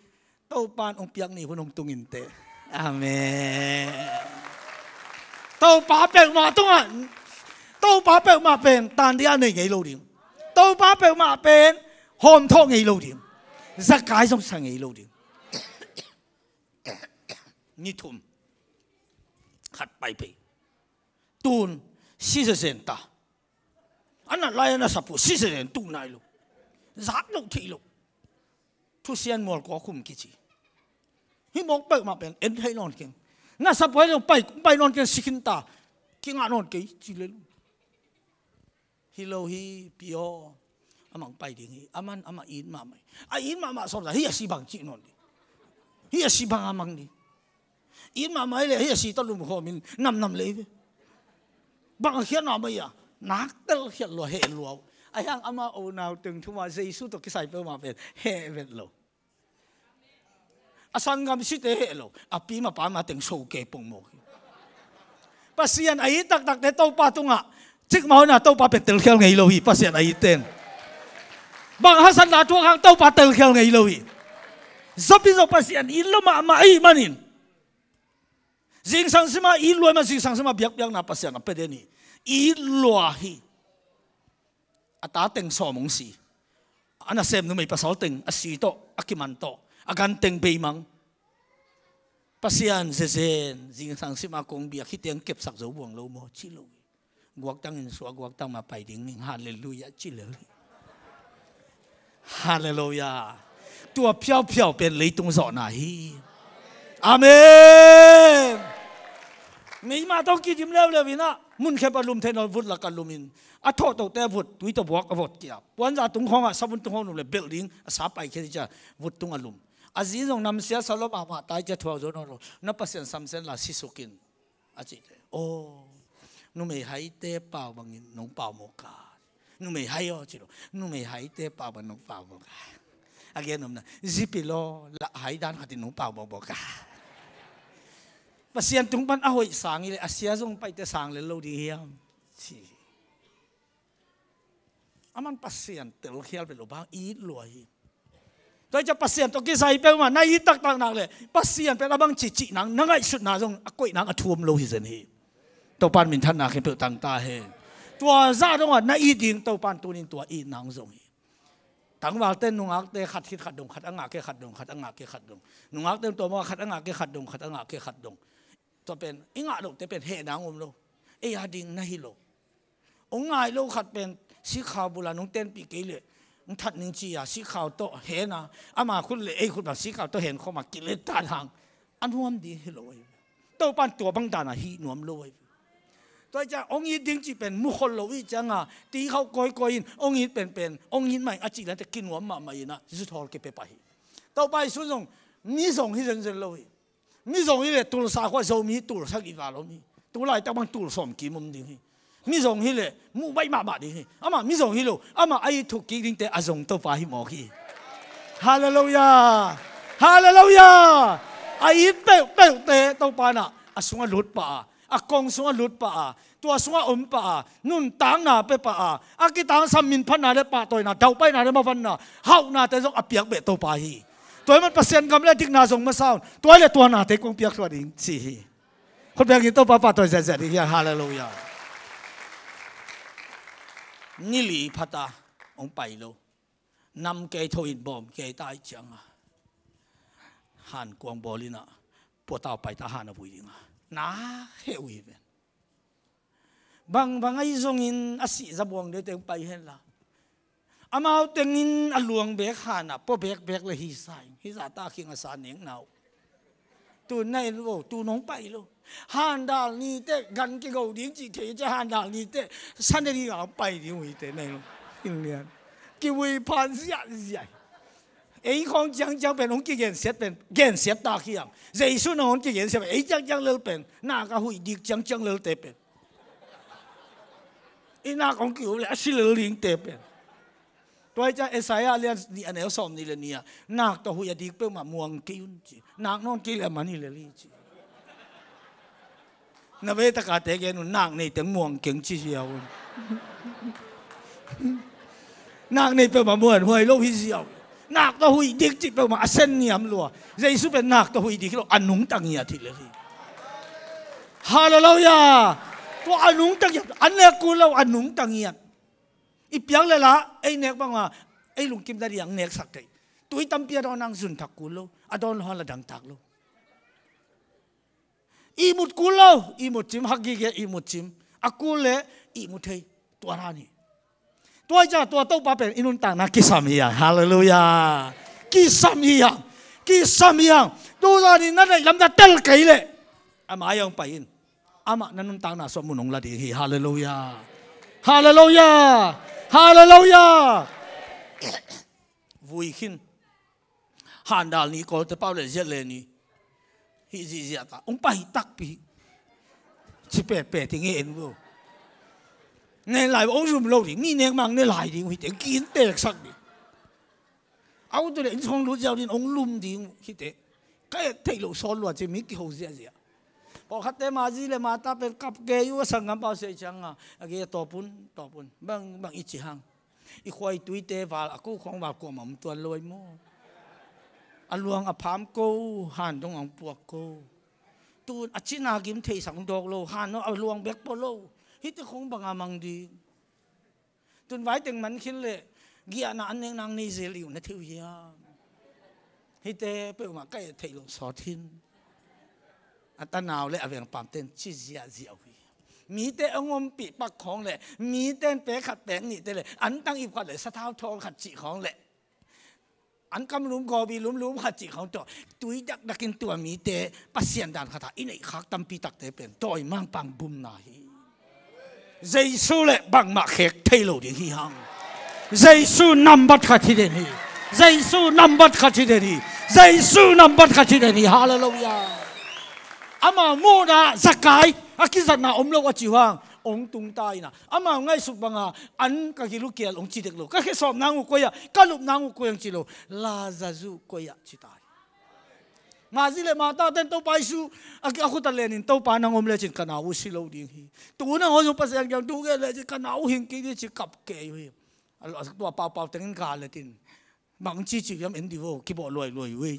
Topan hong piak ni hun hong tung in te. Amen. Topa peuhmah tungah, Topa peuhmah pen tan dia nei ngei lo ding. Topa peuhmah pen hawmthawh ngei lo ding. Zakai zong sa ngei lo ding. Ni thum. Khat pai pei. Tun si zezen ta. A nat lai a na sap uh si zezen tu nai lo. Zak lo thei lo. Thusian mual kua khum kici. Hi mawk peuhmah pen en thei nawn keng. Na sap uh hei lo pai, pai nawn keng si khin ta. Kingah nawn kei ci le lo. Hi lo hi pi aw. Amah hong pai ding hi. Aman amah it mahmah hi. A it mahmah sawm za hi a si bang cih nawn ding. Hi a si bang a mang ding. It mahmah hi leh hi a si tawh lumkhawm in namnam lei ve. Bang a khiat mahmah hi a. Nak telkhiat lua heh lua uh. A hiang amah unau teng thuma Jesu tawh kisai peuhmah pen heh vet lo. A sanggam site heh lo. A pi ma pa ma teng so ke pongmawk hi. Pasian a it taktakte Topa tungah cikmah hona Topa pen telkhial ngei lo hi. Pasian a it ten bang hasatna thuak hang Topa telkhial ngei lo hi. Zapi zo Pasian it lo mahmah ahih manin zingsang sima it lua ma zingsang sima biakpiakna Pasian a pia den hi. It lua hi. A ta teng sawm hong si. A nasem numei pasal teng a si tawh a kiman tawh a gan teng beimang. Pasian zezen zingsang sima kong biak hi teng kepsak zo buang lo maw ci lo hi. Guaktang in suah guaktang ma pai ding ning. Halleluiah ci lel hi. Halleluiah. Tua phiauphiau pen leitung zawhna hi. Amen. Meima tawh kidim leuleu inah munkhep a lum thei nawn vut lak a lum in a thawhtohte a vut tui tawh buak a vot kia puanza tung khawngah savun tung khawng lum le belh ding a sa pai khia cia vut tung a lum. A zi zong namsia salop ah mah tai cia thuak zo nawn lo. Na Pasian samsen la sisukin a cihte aw. Numei haite pau bangin nong pau mawk a. Numei hai aw ci lo. Numei haite pau bangin nong pau mawk a. A gen omna zipi law lah hai dan khatin nong pau mawkmawk a. Pasian tung pan a hoih sang i le a sia zong paite sang lel lo ding hiam ci. Aman Pasian telkhial vet lo bang it lua hi. Tua hi ciah Pasian tawh kisai peuhmah na it taktak nak le Pasian pen a bang cihcih nang na ngaihsutna zong a koih nang a thuam lo hi zen hi. Topan minthanna khen peuh tangta hen. Tua zah dongah na it ding Topan tunin tua it nang zong hi. Tangvalte nungakte khat khit khat dong khat a ngah ke khat dong khat a ngah ke khat dong. Nungakte tua mawh khat a ngah ke khat dong khat a ngah ke khat dong. Tua pen i ngah lohte pen heh nang om lo. Ei a ding na hi lo. Ong ngai lo khat pen sikhau bula nong tenpih kei leh ong that ning ci-a sikhau tawh hena ama khut le ei khut bang sikhau tawh hen khawma kilet tan hang a nuam ding hi lo ei. Topan tua bang dana hih nuam lo ei. Tua ciang ong it ding cih pen mukhol lo ih cianga tikhauh kawikawi in ong it penpen ong it mai a cih lante kinuam mahmah ina zuthawl kipia pah hi. Topa Jesu zong mi zong hi zenzen lo hi. Mi zong hi le tulsa khua Zomi tulsa gih val om hi. Tulaitak bang tulsawm kim om ding hi. Mi zong hi le muh baih mahmah ding hi. Amah mi zong hi lo amah a it thuk kik dingte a zong Topa hi mawk hi. Halleluiah. Halleluiah. A it peuhpeuhte Topa nah a sungah lut pah a a kong sungah lut pah a tua sungah om pah a nuntakna pia pah a a kitangsam minphatna le pahtawina dauhpaihna le mavanna hauhnate zong a piak beh Topa hi. Tua hi man Pasian gam le dikna zong masa un tua hi le tua nate kong piak thluah ding ci hi. Khut bengin Topa pahtawi ziahziah ding hian halleluiah. Nili phata hong pai lo. Nam kei tho in bawm kei ta ih cianga han kuang bawl inah puatau paita han a vui dinga nak heh uh hi ven. Bangbang ahi zongin a sih zabuang de teng pai henla amau tengin a luang bek hanah pua bekbek le hi sa in hi zahta khing a sa nekna uh. Tu na en lo, tu nong pai lo. Handal ni teh gan kigo ding cih thei ciang handal ni teh Sunday ni a pai ding uh hi teh na en lo. Inn lian. Kivui phan ziahziah. Ei khawng ciangciang pen hong kigensiat pen gensiat tak hiang. Jesu na hong kigensiat pen ei ciangciang lel pen nak a huih dik ciangciang lelte pen. I nak hong ki-up le a si lel dingte pen. Tua hi ciang Isaiah lian nih a neu sawm nih le nih ah nak tawh huih a dik peuhmah muang kei un ci. Nak nawn kei le a man hi lel hi ci. Na vei taka te gen un nak nei teng muang keng ci ziau un. Nak nei peuhmah muanhuai lo hi ziau. Nak tawh huih dik cih peuhmah a sen niam lua. Jesu pen nak tawh huih dik hi lo a nungta ngiat hi lel hi. Halleluiah. Tua a nungta ngiat an nek kul lo a nungta ngiat. I piak le la ei nek banga ei lungkim dadiang neksak thei. Tui tampi a dawn ang zun thak kul lo a dawn lo hang la dangtak lo. Ihmut kul lo ihmut cim hak gige ihmut cim a kul le ihmut thei tua dan hi. Tua hi ciang tua Topa pen i nuntakna kisam hi hang. Halleluiah. Kisam hi hang. Kisam hi hang. Tuzan in na neih lam na tel kei leh a mai hong pai in. Amah na nuntakna sung mun hong la ding hi. Halleluiah. Halleluiah. Halleluiah. Vui khin. Handal ni kawlte pau le ziat le ni hih zihziah ta hong pai takpi. Ci pehpeh ti nge en vo. Nge lai hong zum lo ding mi nek mang ne lai ding uh hi teng kin teksak ding. Au tu le in song lut ziau din hong lum ding uh hi teh. Ka et theih loh sawl lua ci mi kiho ziahziah. Pawlkhatte mazi le mata pen kap kei uh a sanggam pau sei cianga a gei a tawpun tawpun bang bang i ci hang. I khuai tuite val a ko khawng val kuamah om tuan lo ai maw? A luang a pham ko han dong ang puak ko. Tun a cina gim theisak dawk lo han no a luang bek pua lo. Hite khawng banga mang ding. Tun vai teng man khin le giahna an nek nang nei zel i uh na thei uh hiam? Hite peuhmah ka et theih loh sawt hin. A tanau le a vengpamten ci ziahziah uh hi. Mite a ngompih pak khawng le miten pek khat pek nihte le an tang ip khat le sathau thawl khat cih khawng le an kam lum gawbi lumlum khat cih khawng tawh tui dakdakin tua mite Pasian dan khatah i neih khak tampi takte pen dawi mangpang bumna hi. Jesu le bangmah khek thei lo ding hi hang. Jesu nambat khat hi den hi. Jesu nambat khat hi den hi. Jesu nambat khat hi den hi. Halleluiah. Amau muhna Zakai a kizatna om lo a ci uh hang ong tung ta ina amau ngaihsut banga an ka gil uh kial ong ci dek lo. Ka khesawp nang uh koi ah ka lup nang uh koi ang ci lo. Lazarus koi ah ci ta hi. Mazi le mata ten Topa Jesu a khut a lenin Topa nang om lecin ka nau uh si lo ding hi. Tu nang hong Pasian kiang tu nge lecin ka nau uh hing kik ding ci kap kei uh hi. Tua paupau tengin ka letin bang ci ci hiam en di vo kibawh luailuai uh hi.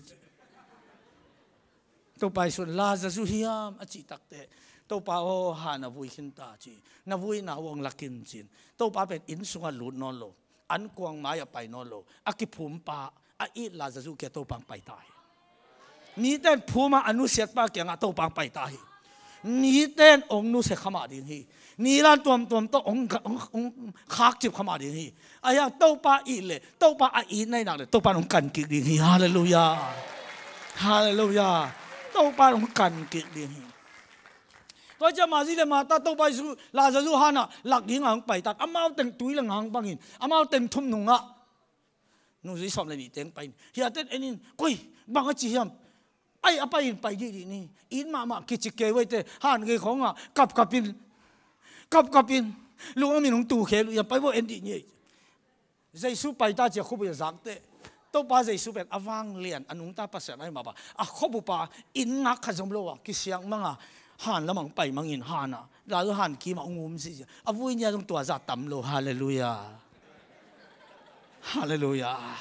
Topa Jesu Lazarus hiam a cih takteh Topa aw ha na vui khin ta ci. Na vuina uh ang lakin cin. Topa pen inn sungah lut nawn lo. An kuang mai a pai nawn lo a kiphum pa a it Lazarus kia Topa ang pai ta hi. Miten phum a a nusiat pa kiangah Topa ang pai ta hi. Miten ong nusia khamah ding hi. Nilan tuamtuam tawh ong khakcip khamah ding hi. Ahiang Topa it le Topa a it nainak le Topa ong kan kik ding hi. Halleluiah. Halleluiah. Topa ong kan kik ding hi. Tua ciah mazi le mata Topa Jesu Lazarus hanah lak dingah hong paitat amau teng tui le ngang bangin amau teng thum nungah nuzui sawm le nih teng pai in hiaten enin koi bang a ci hiam? Ai a pai in pai dihdih ni. It mahmah kici kei uaite han gei khawngah kapkapin kapkapin lungam in hong tukhel uh hiam pai bo en dih ni. Jesu paita cia khuabup a zakteh Topa Jesu pen a vanglian a nungta Pasian ahi mah bang a khuabup a inn ngak khat zom lo a kisiang manga han lamang pai mangin hana lal han kima ung um zihziah a vui nia zong tua zah tam lo. Halleluiah. Halleluiah.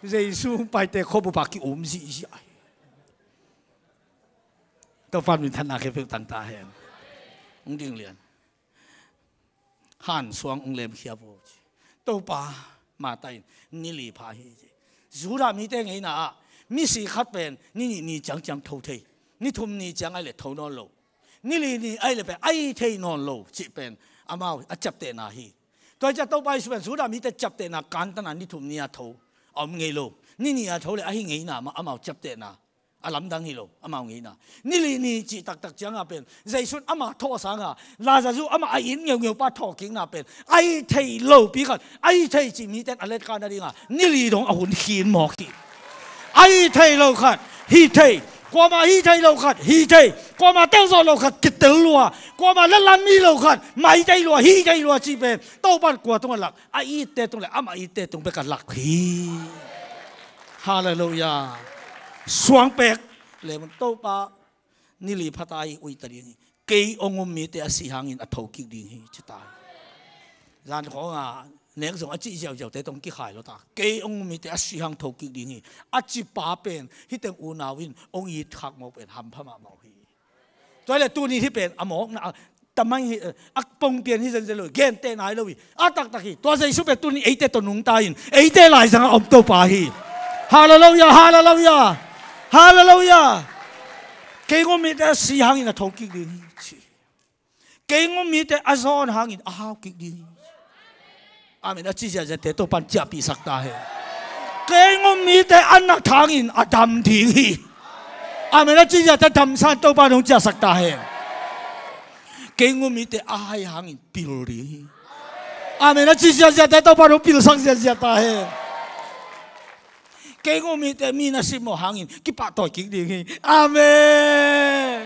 Jesu paite khuabup a ki um zihziah hi. Topa min thanna khe peuh tangta hen. Ung ding lian. Han suang ung lemkhia vo ci. Topa Mata in ni li pha hi ci. Judah mite ngeina ah misi khat pen ni nih ni ciangciang tho thei. Ni thum ni ciang ai le tho nawn lo. Ni li ni ai le pen ai thei nawn lo cih pen amau a ciaptehna hi. Tua hi ciah Topa Jesu pen Judah mite ciaptehna kantana ni thum ni a tho a om ngei lo. Ni nih a tho le ahi ngeina mah amau ciaptehna A lamdang hi lo, amau ngeina. Ni li ni cih taktak cianga pen Jesu in ama thawh sanga Lazarus ama a it ngeungeu pa thawhkikna pen a it thei lopi khat, a it thei cih mite in a letkha nadinga ni li dong a hun khin mawk hi. A it thei lo khat hi thei, kuama hi thei lo khat hi thei, kuama tel zawh lo khat kitel lua, kuama latlan mi lo khat mai thei lua, hi thei lua cih pen Topa in kua tungah lak? A itte tung le ama itte tung bek a lak hi. Halleluiah. Suang pek lem un, Topa, ni li phata hi, uita ding hi. Kei hong um mite a si hangin a thokik ding hi, ci ta hi. Zan khawnga nek zong a cih ziauziaute tong kikhai lo ta. Kei hong um mite a si hang thokik ding hi, a ci pa pen hih teng unau in hong it khak mawk pen hampha mahmah uh hi. Tua hi leh tuni hih pen a mawkna, a tamang hi, a pongpian hi zenzen lo hi, genteh nai lo hi. A taktak hi. Tua Jesu pen tuni eite tawh nungta in eite laizangah om Topa hi. Halleluiah, halleluiah, halleluiah. Kei hong um mite a si hangin a thokik ding hi, ci. Kei hong um mite a zawn hangin a haukik ding hi. Amen a ci ziahziahte Topa in ciahpihsak ta hen. Kei hong um mite a nat hangin a dam ding hi. Amen a ci ziahte damsan Topa in hong ciahsak ta hen. Kei hong um mite a hai hangin pil ding hi. Amen a ci ziahziahte Topa in hong pilsak ziahziah ta hen. Kei hong um mite mi na simmawh hangin kipahtawi kik ding hi. Amen.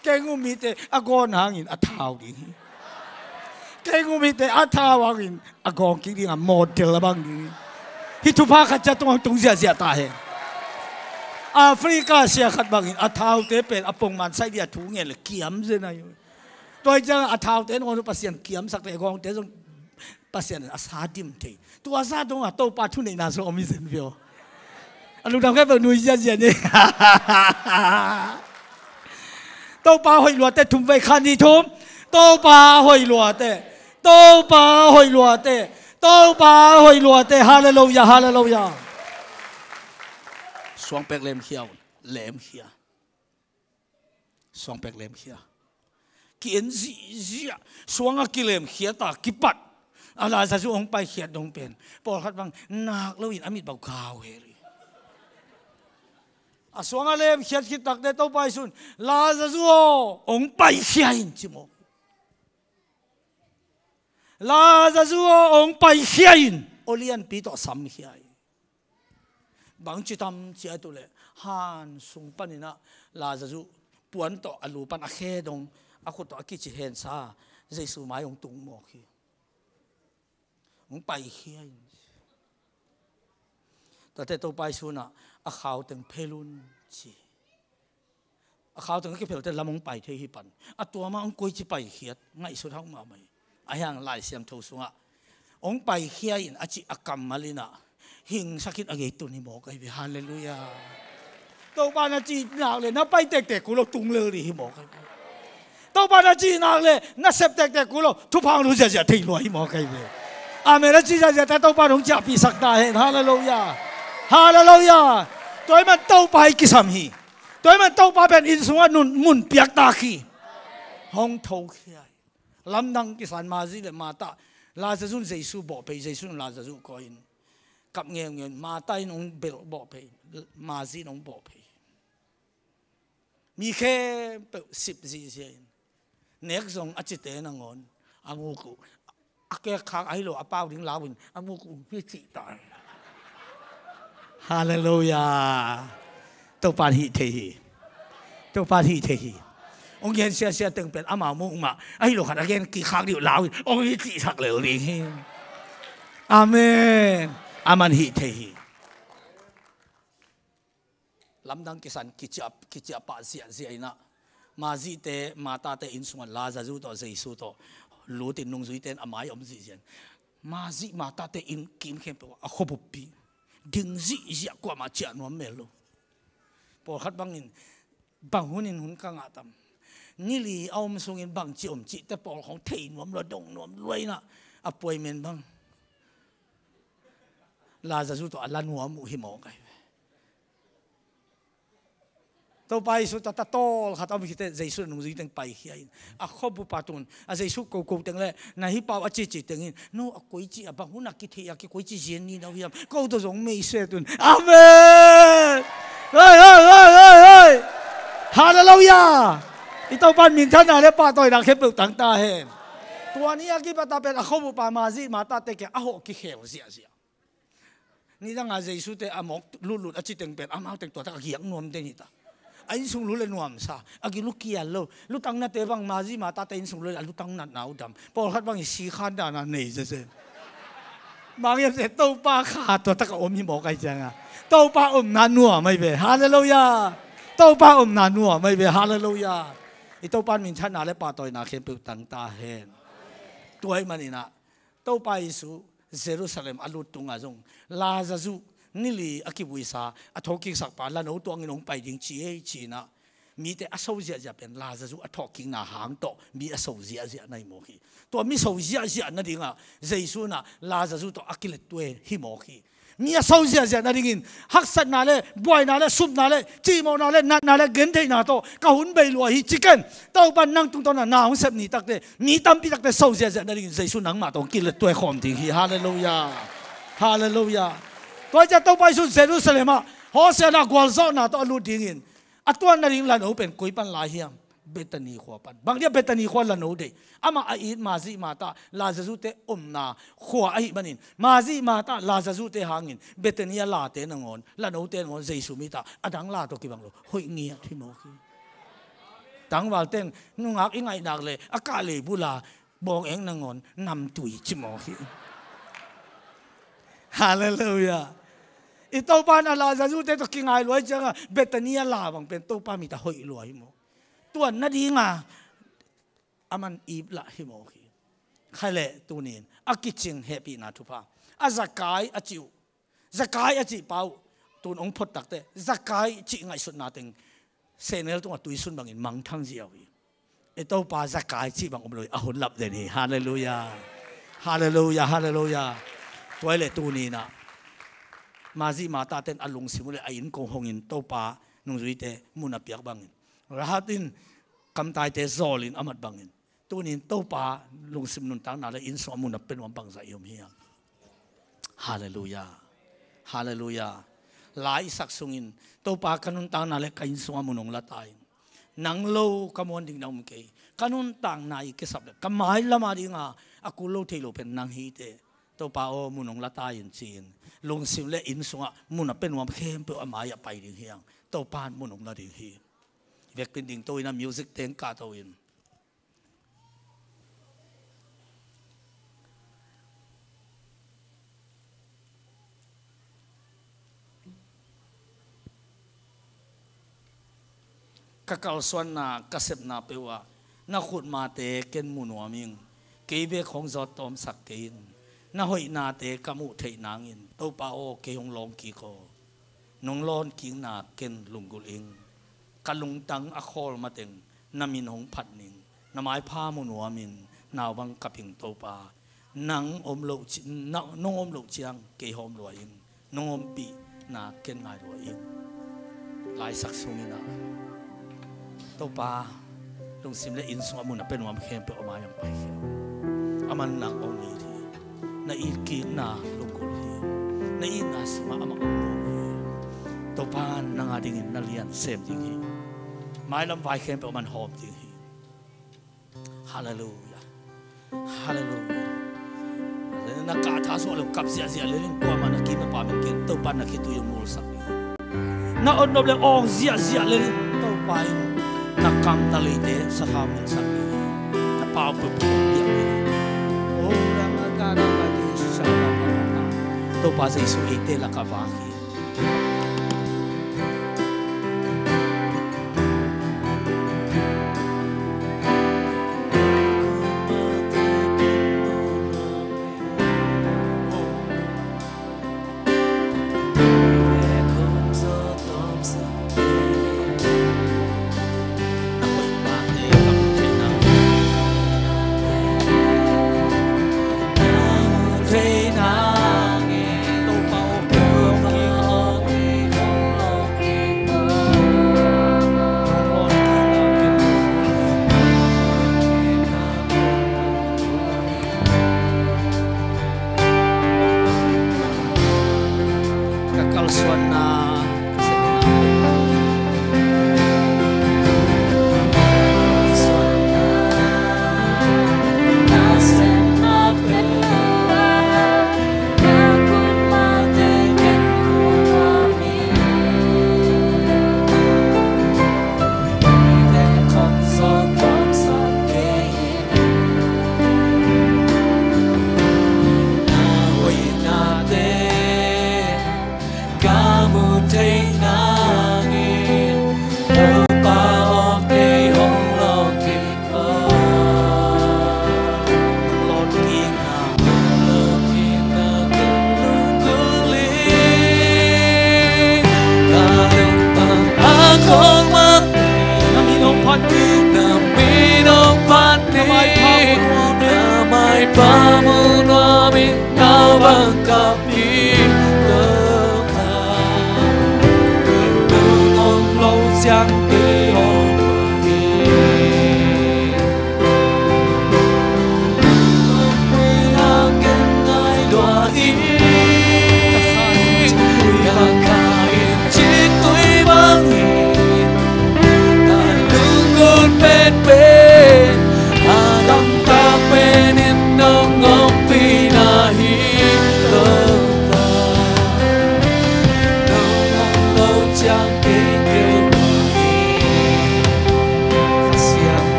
Kei hong um mite a gawn hangin a thau ding hi. Kei hong um mite a thau hangin a gawng kik ding a, model a bang ding hi. Hih thupha khat ciat tungah tung ziahziah ta hen. Africa sia khat bangin a thaute pen a pongman saih ding a thu ngen le kiam zen ahi. Tua hi ciangin a thaute nangawn uh Pasian kiamsakte, a gawngte zong Pasian in a sa dim thei. Tua sa dongah Topa thuneihna zong om hi zen ve aw. A lungdam khempeuh nui ziazia ni. Topa hoih luate thum vei, khat, nih, thum. Topa hoih luate. Topa hoih luate. Topa hoih luate. Halleluiah, halleluiah. Suangpek lemkhia un. Lemkhia. Suangpek lemkhia. Ki-en zihziah, suang a kilemkhia ta kipat. A Lazarus hong paikhiat dong pen pawlkhat bang nak loin a mit bau kau hel hi. A suang a lemkhiat khit takte Topa Jesu in, "Lazarus aw, hong paikhia in," ci maw. "Lazarus aw, hong paikhia in," aw lianpi tawh samkhia hi. Bangci tam ci a tu leh, han sung paninah Lazarus puan tawh a lu pan a khe dong, a khut tawh a kici hensa, Jesu mai hong tung mawk hi. Hong paikhia in. Tate Topa Jesu in a khau teng phel un ci. A khau teng a kiphelte lam hong pai thei hi pan. A tuama hong koici paikhiat, ngaihsut hauh mahmah hi. A hiang Lai Siangtho sungah hong paikhia in a cih a kammal inah hingsak in a gei tun hi mawk ahi ve. Halleluiah. Topa na cih nak le na pai tektek uh lo tung lel dih hi mawk ahi ve. Topa na cih nak le na sep tektek uh lo thupha hong lut ziahziah thei lua hi mawk ahi ve. Amen a ci ziahziahte Topa in hong ciahpihsak ta hen. Halleluiah. Halleluiah. Tua hi man Topa hi kisam hi. Tua hi man Topa pen inn sungah nun, mun piaktak hi. Hong thokhia hi. Lamdang kisan Mari le Martha. Lazarus in Jesu bawh phei, Jesu in Lazarus koi in kap ngeungeu in, Martha in hong belh bawh phei, Mari in hong bawh phei. Mi khempeuh sip zihziah in, nek zong a cite nangawn a nguk uh, a kekkhak ahi lo a pau ding lau in a nguk uh hong hi cih ta. Halleluiah. Topa in hih thei hi. Topa in hih thei hi. Hong gen siasia teng pen amau muk mah ahi lo khat a gen kikkhak dih uh lau in hong hi cihsak lel ding hi. Amen. Aman hih thei hi. Lamdang kisan kiciah, kiciah pah ziahziah inah Mari te, Martha te inn sungah Lazarus tawh Jesu tawh lutin nungzuite in a mai om zihziah in, Mari Martha te inn kim khempeuh a khuabuppi ding zihziah, kuamah ciah nuam mel lo. Pawlkhat bangin bang hunin hun ka ngah tam, ni li a om sungin bangci om cihte pawl khawng thei nuam lua, dong nuam lua inah a puai men bang Lazarus tawh a la nuam uh hi mawk ahi ve. Topa Jesu tawh tatawl khat a om khit teh Jesu in nungzui teng paikhia in a khuabup ah tun a Jesu koko teng le na hi pau a cici tengin no a koici a bang hun a kithei a kikoici zian ni no hiam, ko tawh zong mei set un. Amen. Hoi, hoi, hoi, Halleluiah. I Topa in minthanna le pahtawina khempeuh tang ta hen. Tua ni a kipat a pen a khuabupa Mazi Mata te kiang a hawh kikhel ziahziah. Nidanga Jesu te a mawk lutlut a ci teng pen amau teng tua tak a giak nuam te ni ta. A innsung lu le nuamsa, a gilu kial lo. Lutang nate bang Mazi Mata te innsung lu le a lutang natna uh dam. Pawlkhat bang i si khan dana nei zeze. Mangiam se Topa kha tua tak a om hi mawk ai cianga. Topa omna nuam ai ve. Halleluiah. Topa omna nuam ai ve. Halleluiah. I Topa in minthanna le pahtawina khempeuh tang ta hen. Tua i maninah Topa Jesu Jerusalem a lut tunga zong Lazazu nili a kibuisa a thawhkiksakpa lano tuangin hong pai ding ci ei cinah mite a so ziahziah pen Lazazu a thawhkikna hang tawh mi a so ziahziah na hi mawk hi. Tua mi so ziahziah nadingah Jesu inah Lazazu tawh a kilettuai hi mawk hi. Mi a so ziahziah nadingin haksatna le buaina le supna le cihmawhna le natna le gentheihna tawh ka hun bei lua hi ci ken. Topa nang tungtawna na hong sep ni takte mi tampi takte so ziahziah nadingin Jesu nangmah tawh hong kilettuai khawm ding hi. Halleluiah. Halleluiah. Tua ciah Topa Jesu Jerusalem ah Hosiana gualzawhna tawh a lut dingin a tuan nading lano pen koi pan lai hiam? Bethany khua pan. Bang dia Bethany khua lano deih? Amah a it Mazi Mata Lazazu te omna khua ahi manin Mazi Mata Lazazu te hangin Bethany a late nangawn lano te nangawn Jesu mita a dang la tawh kibang lo hoih ngiat hi mawk hi. Tangval teng nungak i ngaihnak le a kah lei bula bawng eng nangawn namtui ci mawk hi. Halleluiah. I Topa in a Lazazu te tawh kingai luai cianga Bethany a la bang pen Topa mita hoih luai hi mawk. Tuan nadinga a man ip lah hi mawk hi. Khaileh tunin a kicing hehpihna thupha a Zakai a cih uh Zakai a cih pa uh tun hong phot takte Zakai cih ngaihsutna teng sehnel tungah tuisun bangin mangthang ziau hi. I Topa Zakai cih bang om lo hi a hun lap den hi. Halleluiah. Halleluiah. Halleluiah. Tua i le tuninah Mazi Mata ten a lungsim uh le a inn kong hongin Topa nungzuite mun a piak bangin Rahat in kamtaite zawlin a mat bangin tunin Topa lungsim nuntakna le innsung a mun a pe nuam bangzah i om hiam? Halleluiah. Halleluiah. Lai i sak sungin Topa ka nuntakna le ka innsung a mun hong la ta in. Nang lo ka muan ding na um kei. Ka nuntakna i kisap le ka mailam a dinga a kul lo thei lo pen nang hi te. Topa aw mun hong la ta in ci-in lungsim le innsungah mun a pe nuam khempeuh a mai-ah pai ding hiang. Topa in mun hong la ding hi. Vekpin ding to in a music teng kahto in ka kalsuanna ka sepna peuhah na khutmate ken mu nuam ing. Kei bek hong zawt tawmsak kei in. Na hoihnate ka muh theih nangin Topa aw kei hong lawng kik aw. Nong lawn kikna ken lunggulh ing. Ka lungtang a khawl mateng na min hong phat ning. Na maipha mu nuamin naubang ka ping Topa. Nang om loh ci-, na, nong om loh ciang kei hawm lua ing. Nong ompihna ken ngai lua ing. Laisak sungin ah Topa lungsim le inn sungah mun a pe nuam khempeuh a mai-ah pai khia. A man nang hong it hi. Na itkikna lunggulh hi. Na itna sungah amah hong nuam hi. Topa nang a dingin na lian sem ding hi. Mailam vai khempeuh a man hawm ding hi. Halleluiah. Halleluiah. Na kah tha suah le kap ziahziah le ling kuamah na kim na pa min ken Topa na khitui hong ngulsak ding hi. Na otnop le awng ziahziah le ling Topa in na kam na leite sathau ngilsak ding hi. Na pau peuhpeuh hong piak ding hi. Oh, rang a ka rang a ki sa pa pa pa pa. Topa Jesu eite lakah vak hi.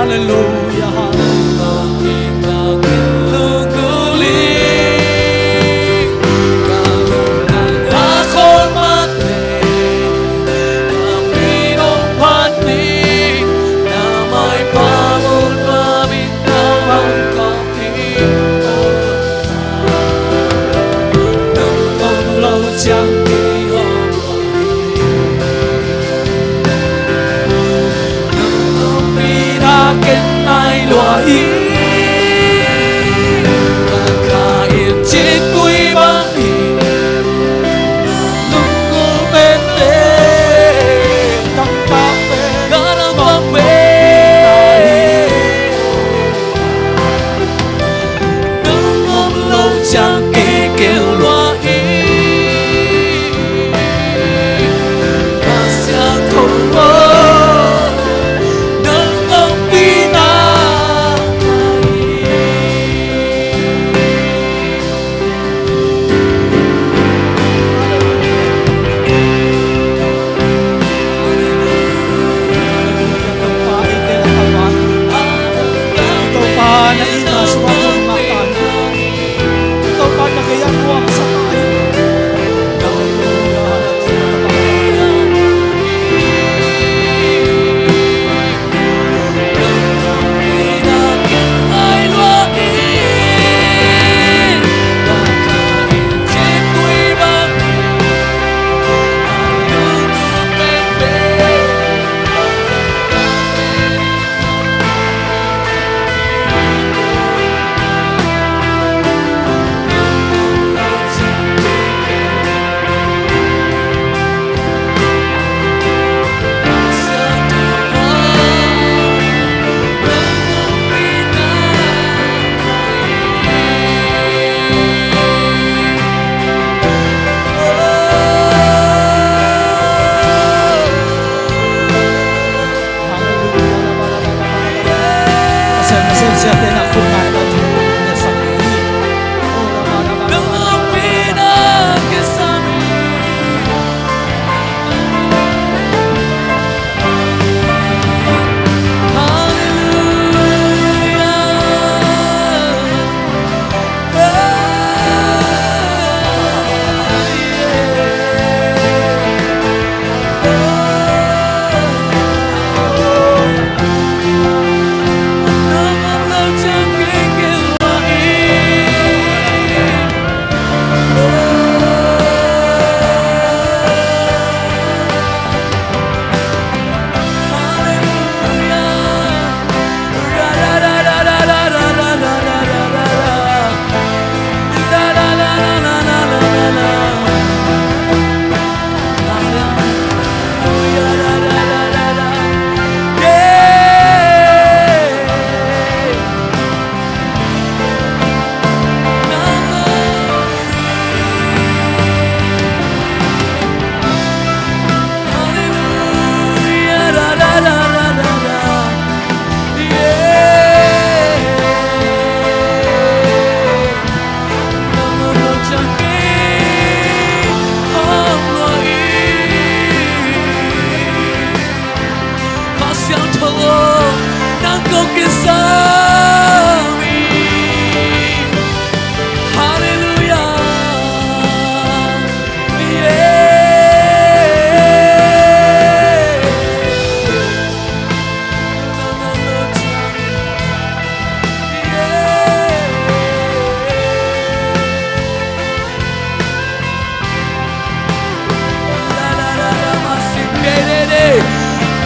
Halleluia, halleluia.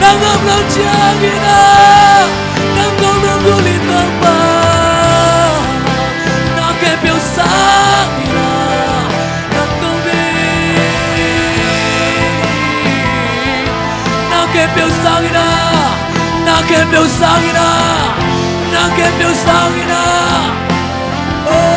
Nang om lo ciangin ah, nang kong lunggulh hi Topa. Na khempeuh sangin ah, nang kong deih. Na khempeuh sangin ah, na khempeuh sangin ah, na khempeuh sangin ah. Oh.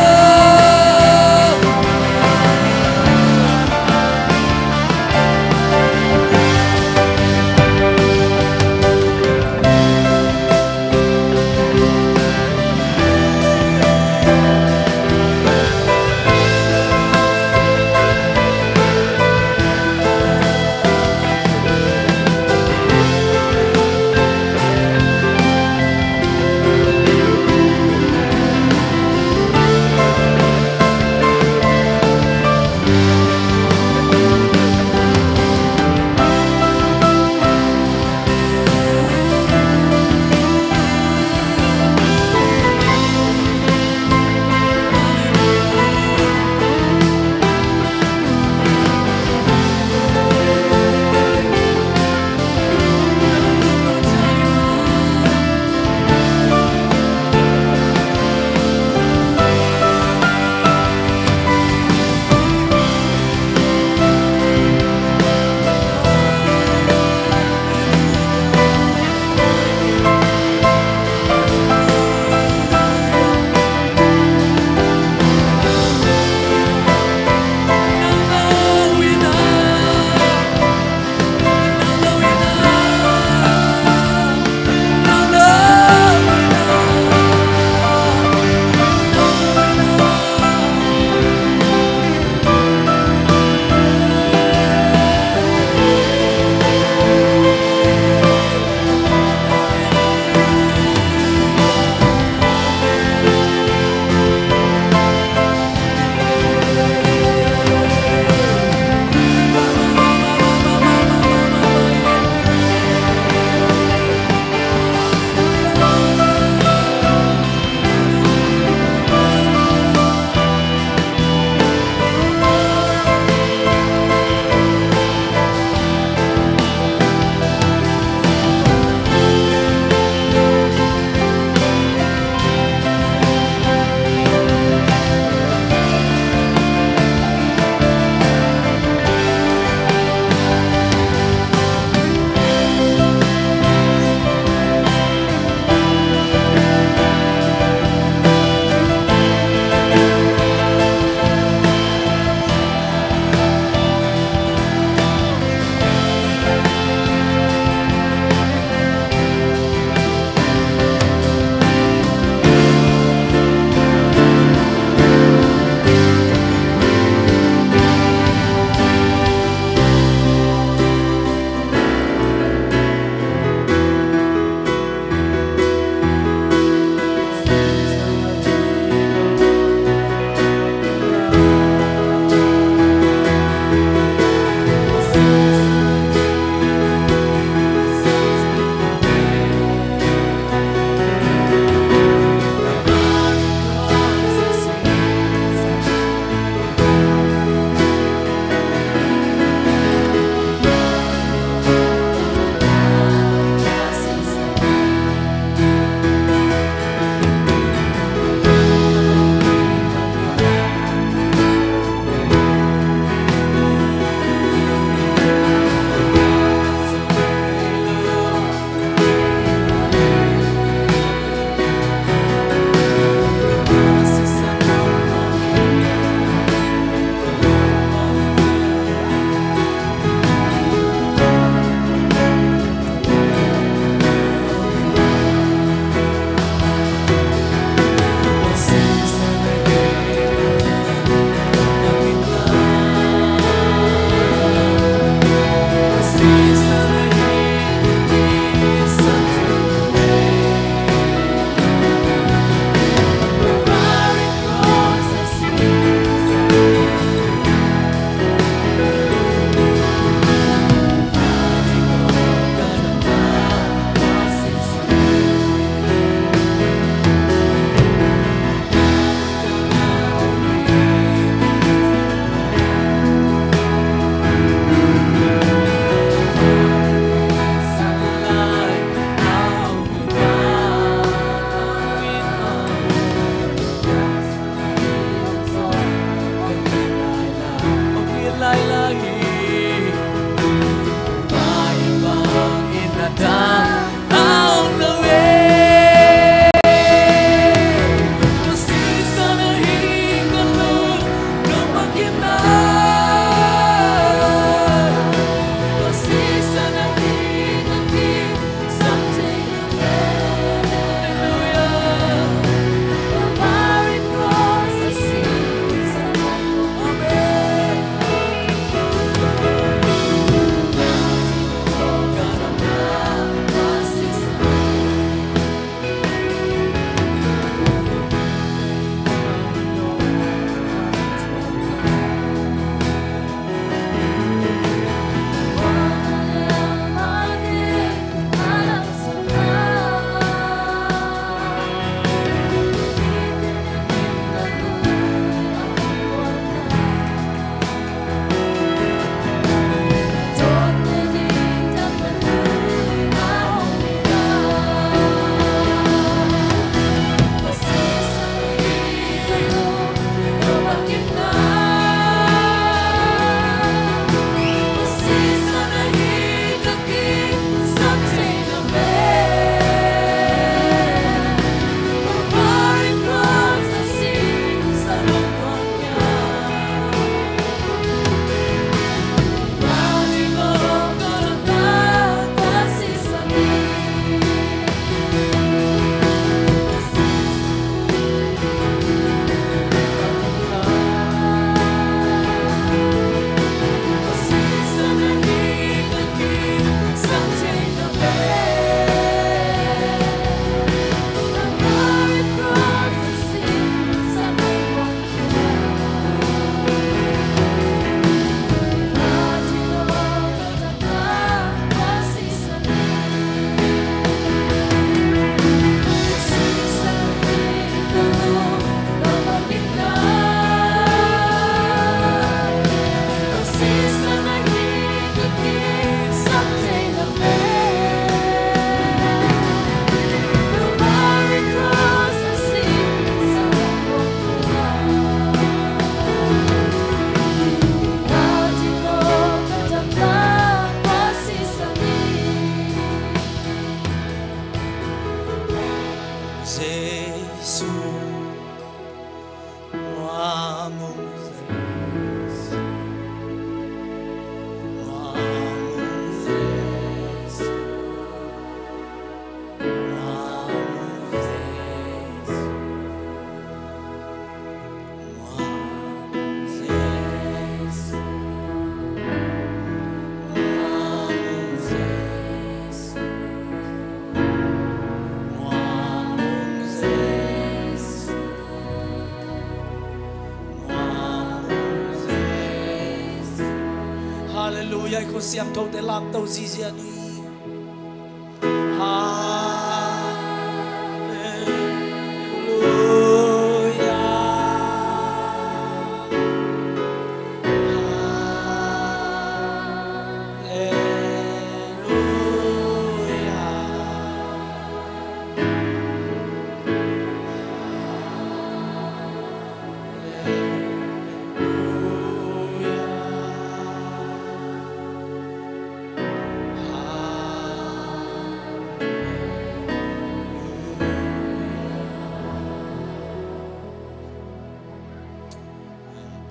Halleluiah. I khut siangthote lamto ziazia ni. Halleluiah.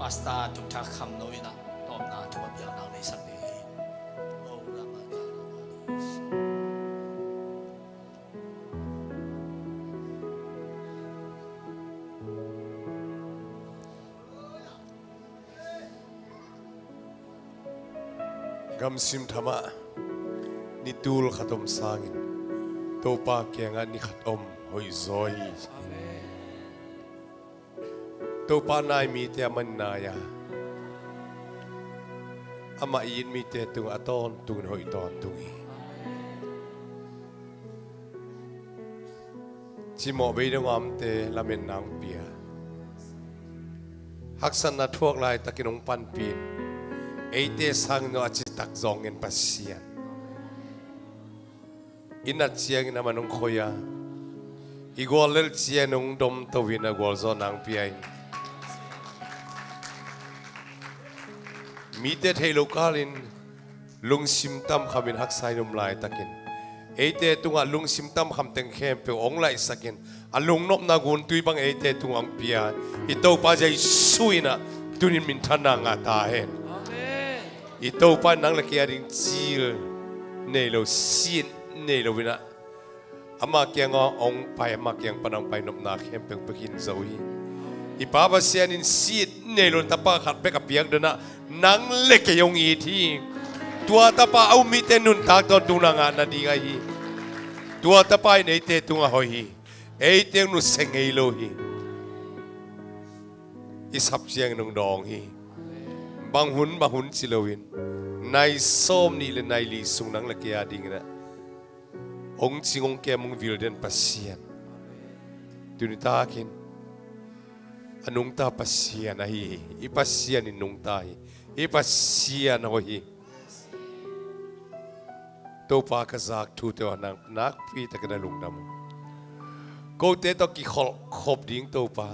Pastor Tuk Thak Kham No in ah tawpna thu a piak nang nei sak ding hi. Gamsim thamah ni tul khat om sangin Topa kiangah ni khat om hoih zaw hi. Topa nai mite amah in nai a, amah it mite tungah a tawntungin hoih tawntung hi. Cimawh bei dong a omte lametna hong pia, haksatna thuak laitakin hong panpih, eite sangin a citak zawng ngen Pasian. I nat ciangin amah in hong khoi a, i guallelh ciangin hong domto in a gualzawhna hong pia in, mite theih loh kalin lungsim tamkhamin haksa in om laitakin eite tungah lungsim tamkham teng khempeuh hong laihsakin a lungnopna guntui bang eite tungah hong pia i Topa Jesu in ah tunin minthanna ngah ta hen. I Topa in nang le kei a ding cil nei lo, sit nei lo in ah, ama kiangah hong pai, ama kiang pan hong pai nopna khempeuh pia khin zo hi. I Pa Pasian in sit nei lo tapa khat bek a piak dan ah nang le kei hong it hi. Tua tapa a um mite nuntak tawntungna ngah nading ahi hi. Tua tapa in eite tungah hoih hi. Eite hong nusia ngei lo hi. I sap ciangin hong dawng hi. Bang hun bang hun ci loin nai sawm nih le nai li sung nang le kei a dingin ah hong cing hong kem hong vil den Pasian, tuni takin a nungta Pasian ahi hi. I Pasian in nungta hi. I Pasian hoih hi. Topa ka zak thute uh a nang nakpi takin a lungdam uh. Kote tawh kikholhkhop ding Topa,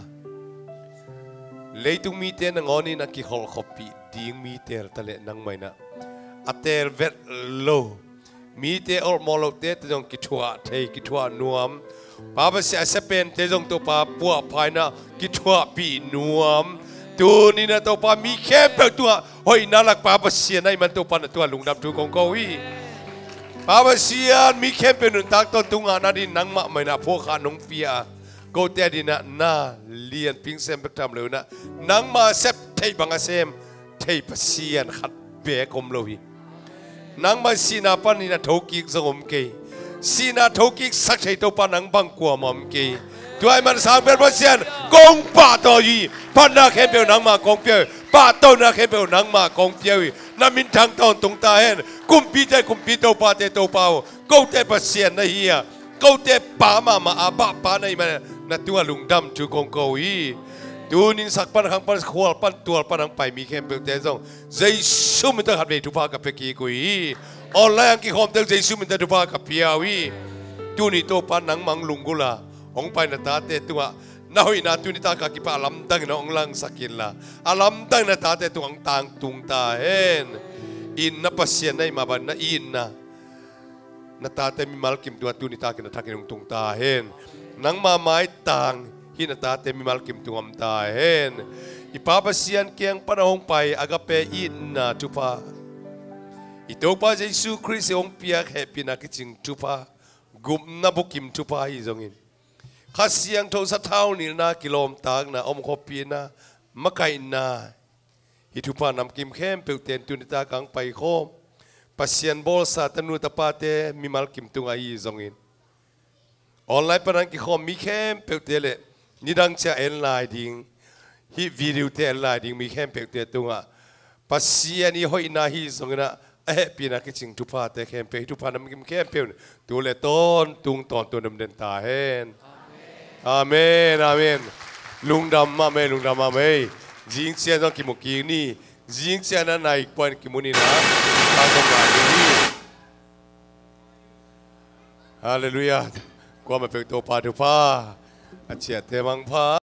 leitung mite nangawnin a kikholhkhoppih ding mi teel ta leh nangmah in ah a teel vet lo, mite olhmawh lohte tawh zong kithuah thei, kithuah nuam, Pa Pasian a sia pente zong Topa puahpha in ah kithuahpih nuam. Tuni in ah Topa mi khempeuh tungah hoihna lak Pa Pasian ahih man Topa na tungah lungdam thu kong ko hi. Pa Pasian, mi khempeuh nuntak tawntung ngah nading nangmah mah in ah phuakkhak nong pia a, kote ading ah na lianpi sem bek tham lo in ah nangma sep theih bang a sem thei Pasian khat beek om lo hi. Nangmah sihna panin a thokik zong om kei. Sihna thokik sak thei Topa nang bang kuamah om kei. Tua ahih man Sang Pian Pasian kong pahtawi hi. Phatna khempeuh nangmah kong pia uh hi. Pahtawina khempeuh nangmah kong pia uh hi. Na minthang tawntung ta hen. Kumpite kumpi, topate topa uh, kote Pasian na hi a, kote Pa mahmah a, Papa na hih man na tungah lungdam thu kong ko hi. Tunin sak pan, khang pan, khual pan, tual pan hong pai mi khempeuhte zong Jesu min tawh khatvei thupha ka pia kik uh hi. Online ah hong kikhawmte uh Jesu min tawh thupha ka pia uh hi. Tuni Topa nangmah hong lunggulh a hong pai na tate tungah na hoihna tuni tak a kipat a lamdangin hong langsak inla, a lamdangin na tate tungah hong tangtung ta hen. Itna Pasian na hih mah bangin na itna na tate mimal kim tungah tuni takin a thakin hong tung ta hen. Nangma maitang hih na tate mimal kim tungah om ta hen. I Pa Pasian kiang pan a hong pai agape itna thupha, i Topa Jesu Khrist i hong piak hehpihna kicing thupha, gupna bukim thupha ahi zongin, Kha Siangtho sathau nilhna, kilawmtatna, omkhawmpihna, makaihna, hih thupha namkim khempeuhte in tuni tak a hong paikhawm Pasian bawlsa tanu tapate mimal kim tungah ahi zongin, online pan a hong kikhawm mi khempeuhte le nidang ciang en lai ding, hih video-te en lai ding mi khempeuhte tungah Pasian i hoihna hi zongin ah, a hehpihna kicing thuphate khempeuh, hih thupha namkim khempeuh in tu le tawntung tawntung dam den ta hen. Amen, amen. Lungdam mahmah ei, lungdam mahmah ei. Zingciang zong kimu kik ni. Zingciang a nai kua in kimu ni na. Ka zong ngai ding hi. Halleluiah. Kuamah peuh Topa thupha. A ciahte mangpha.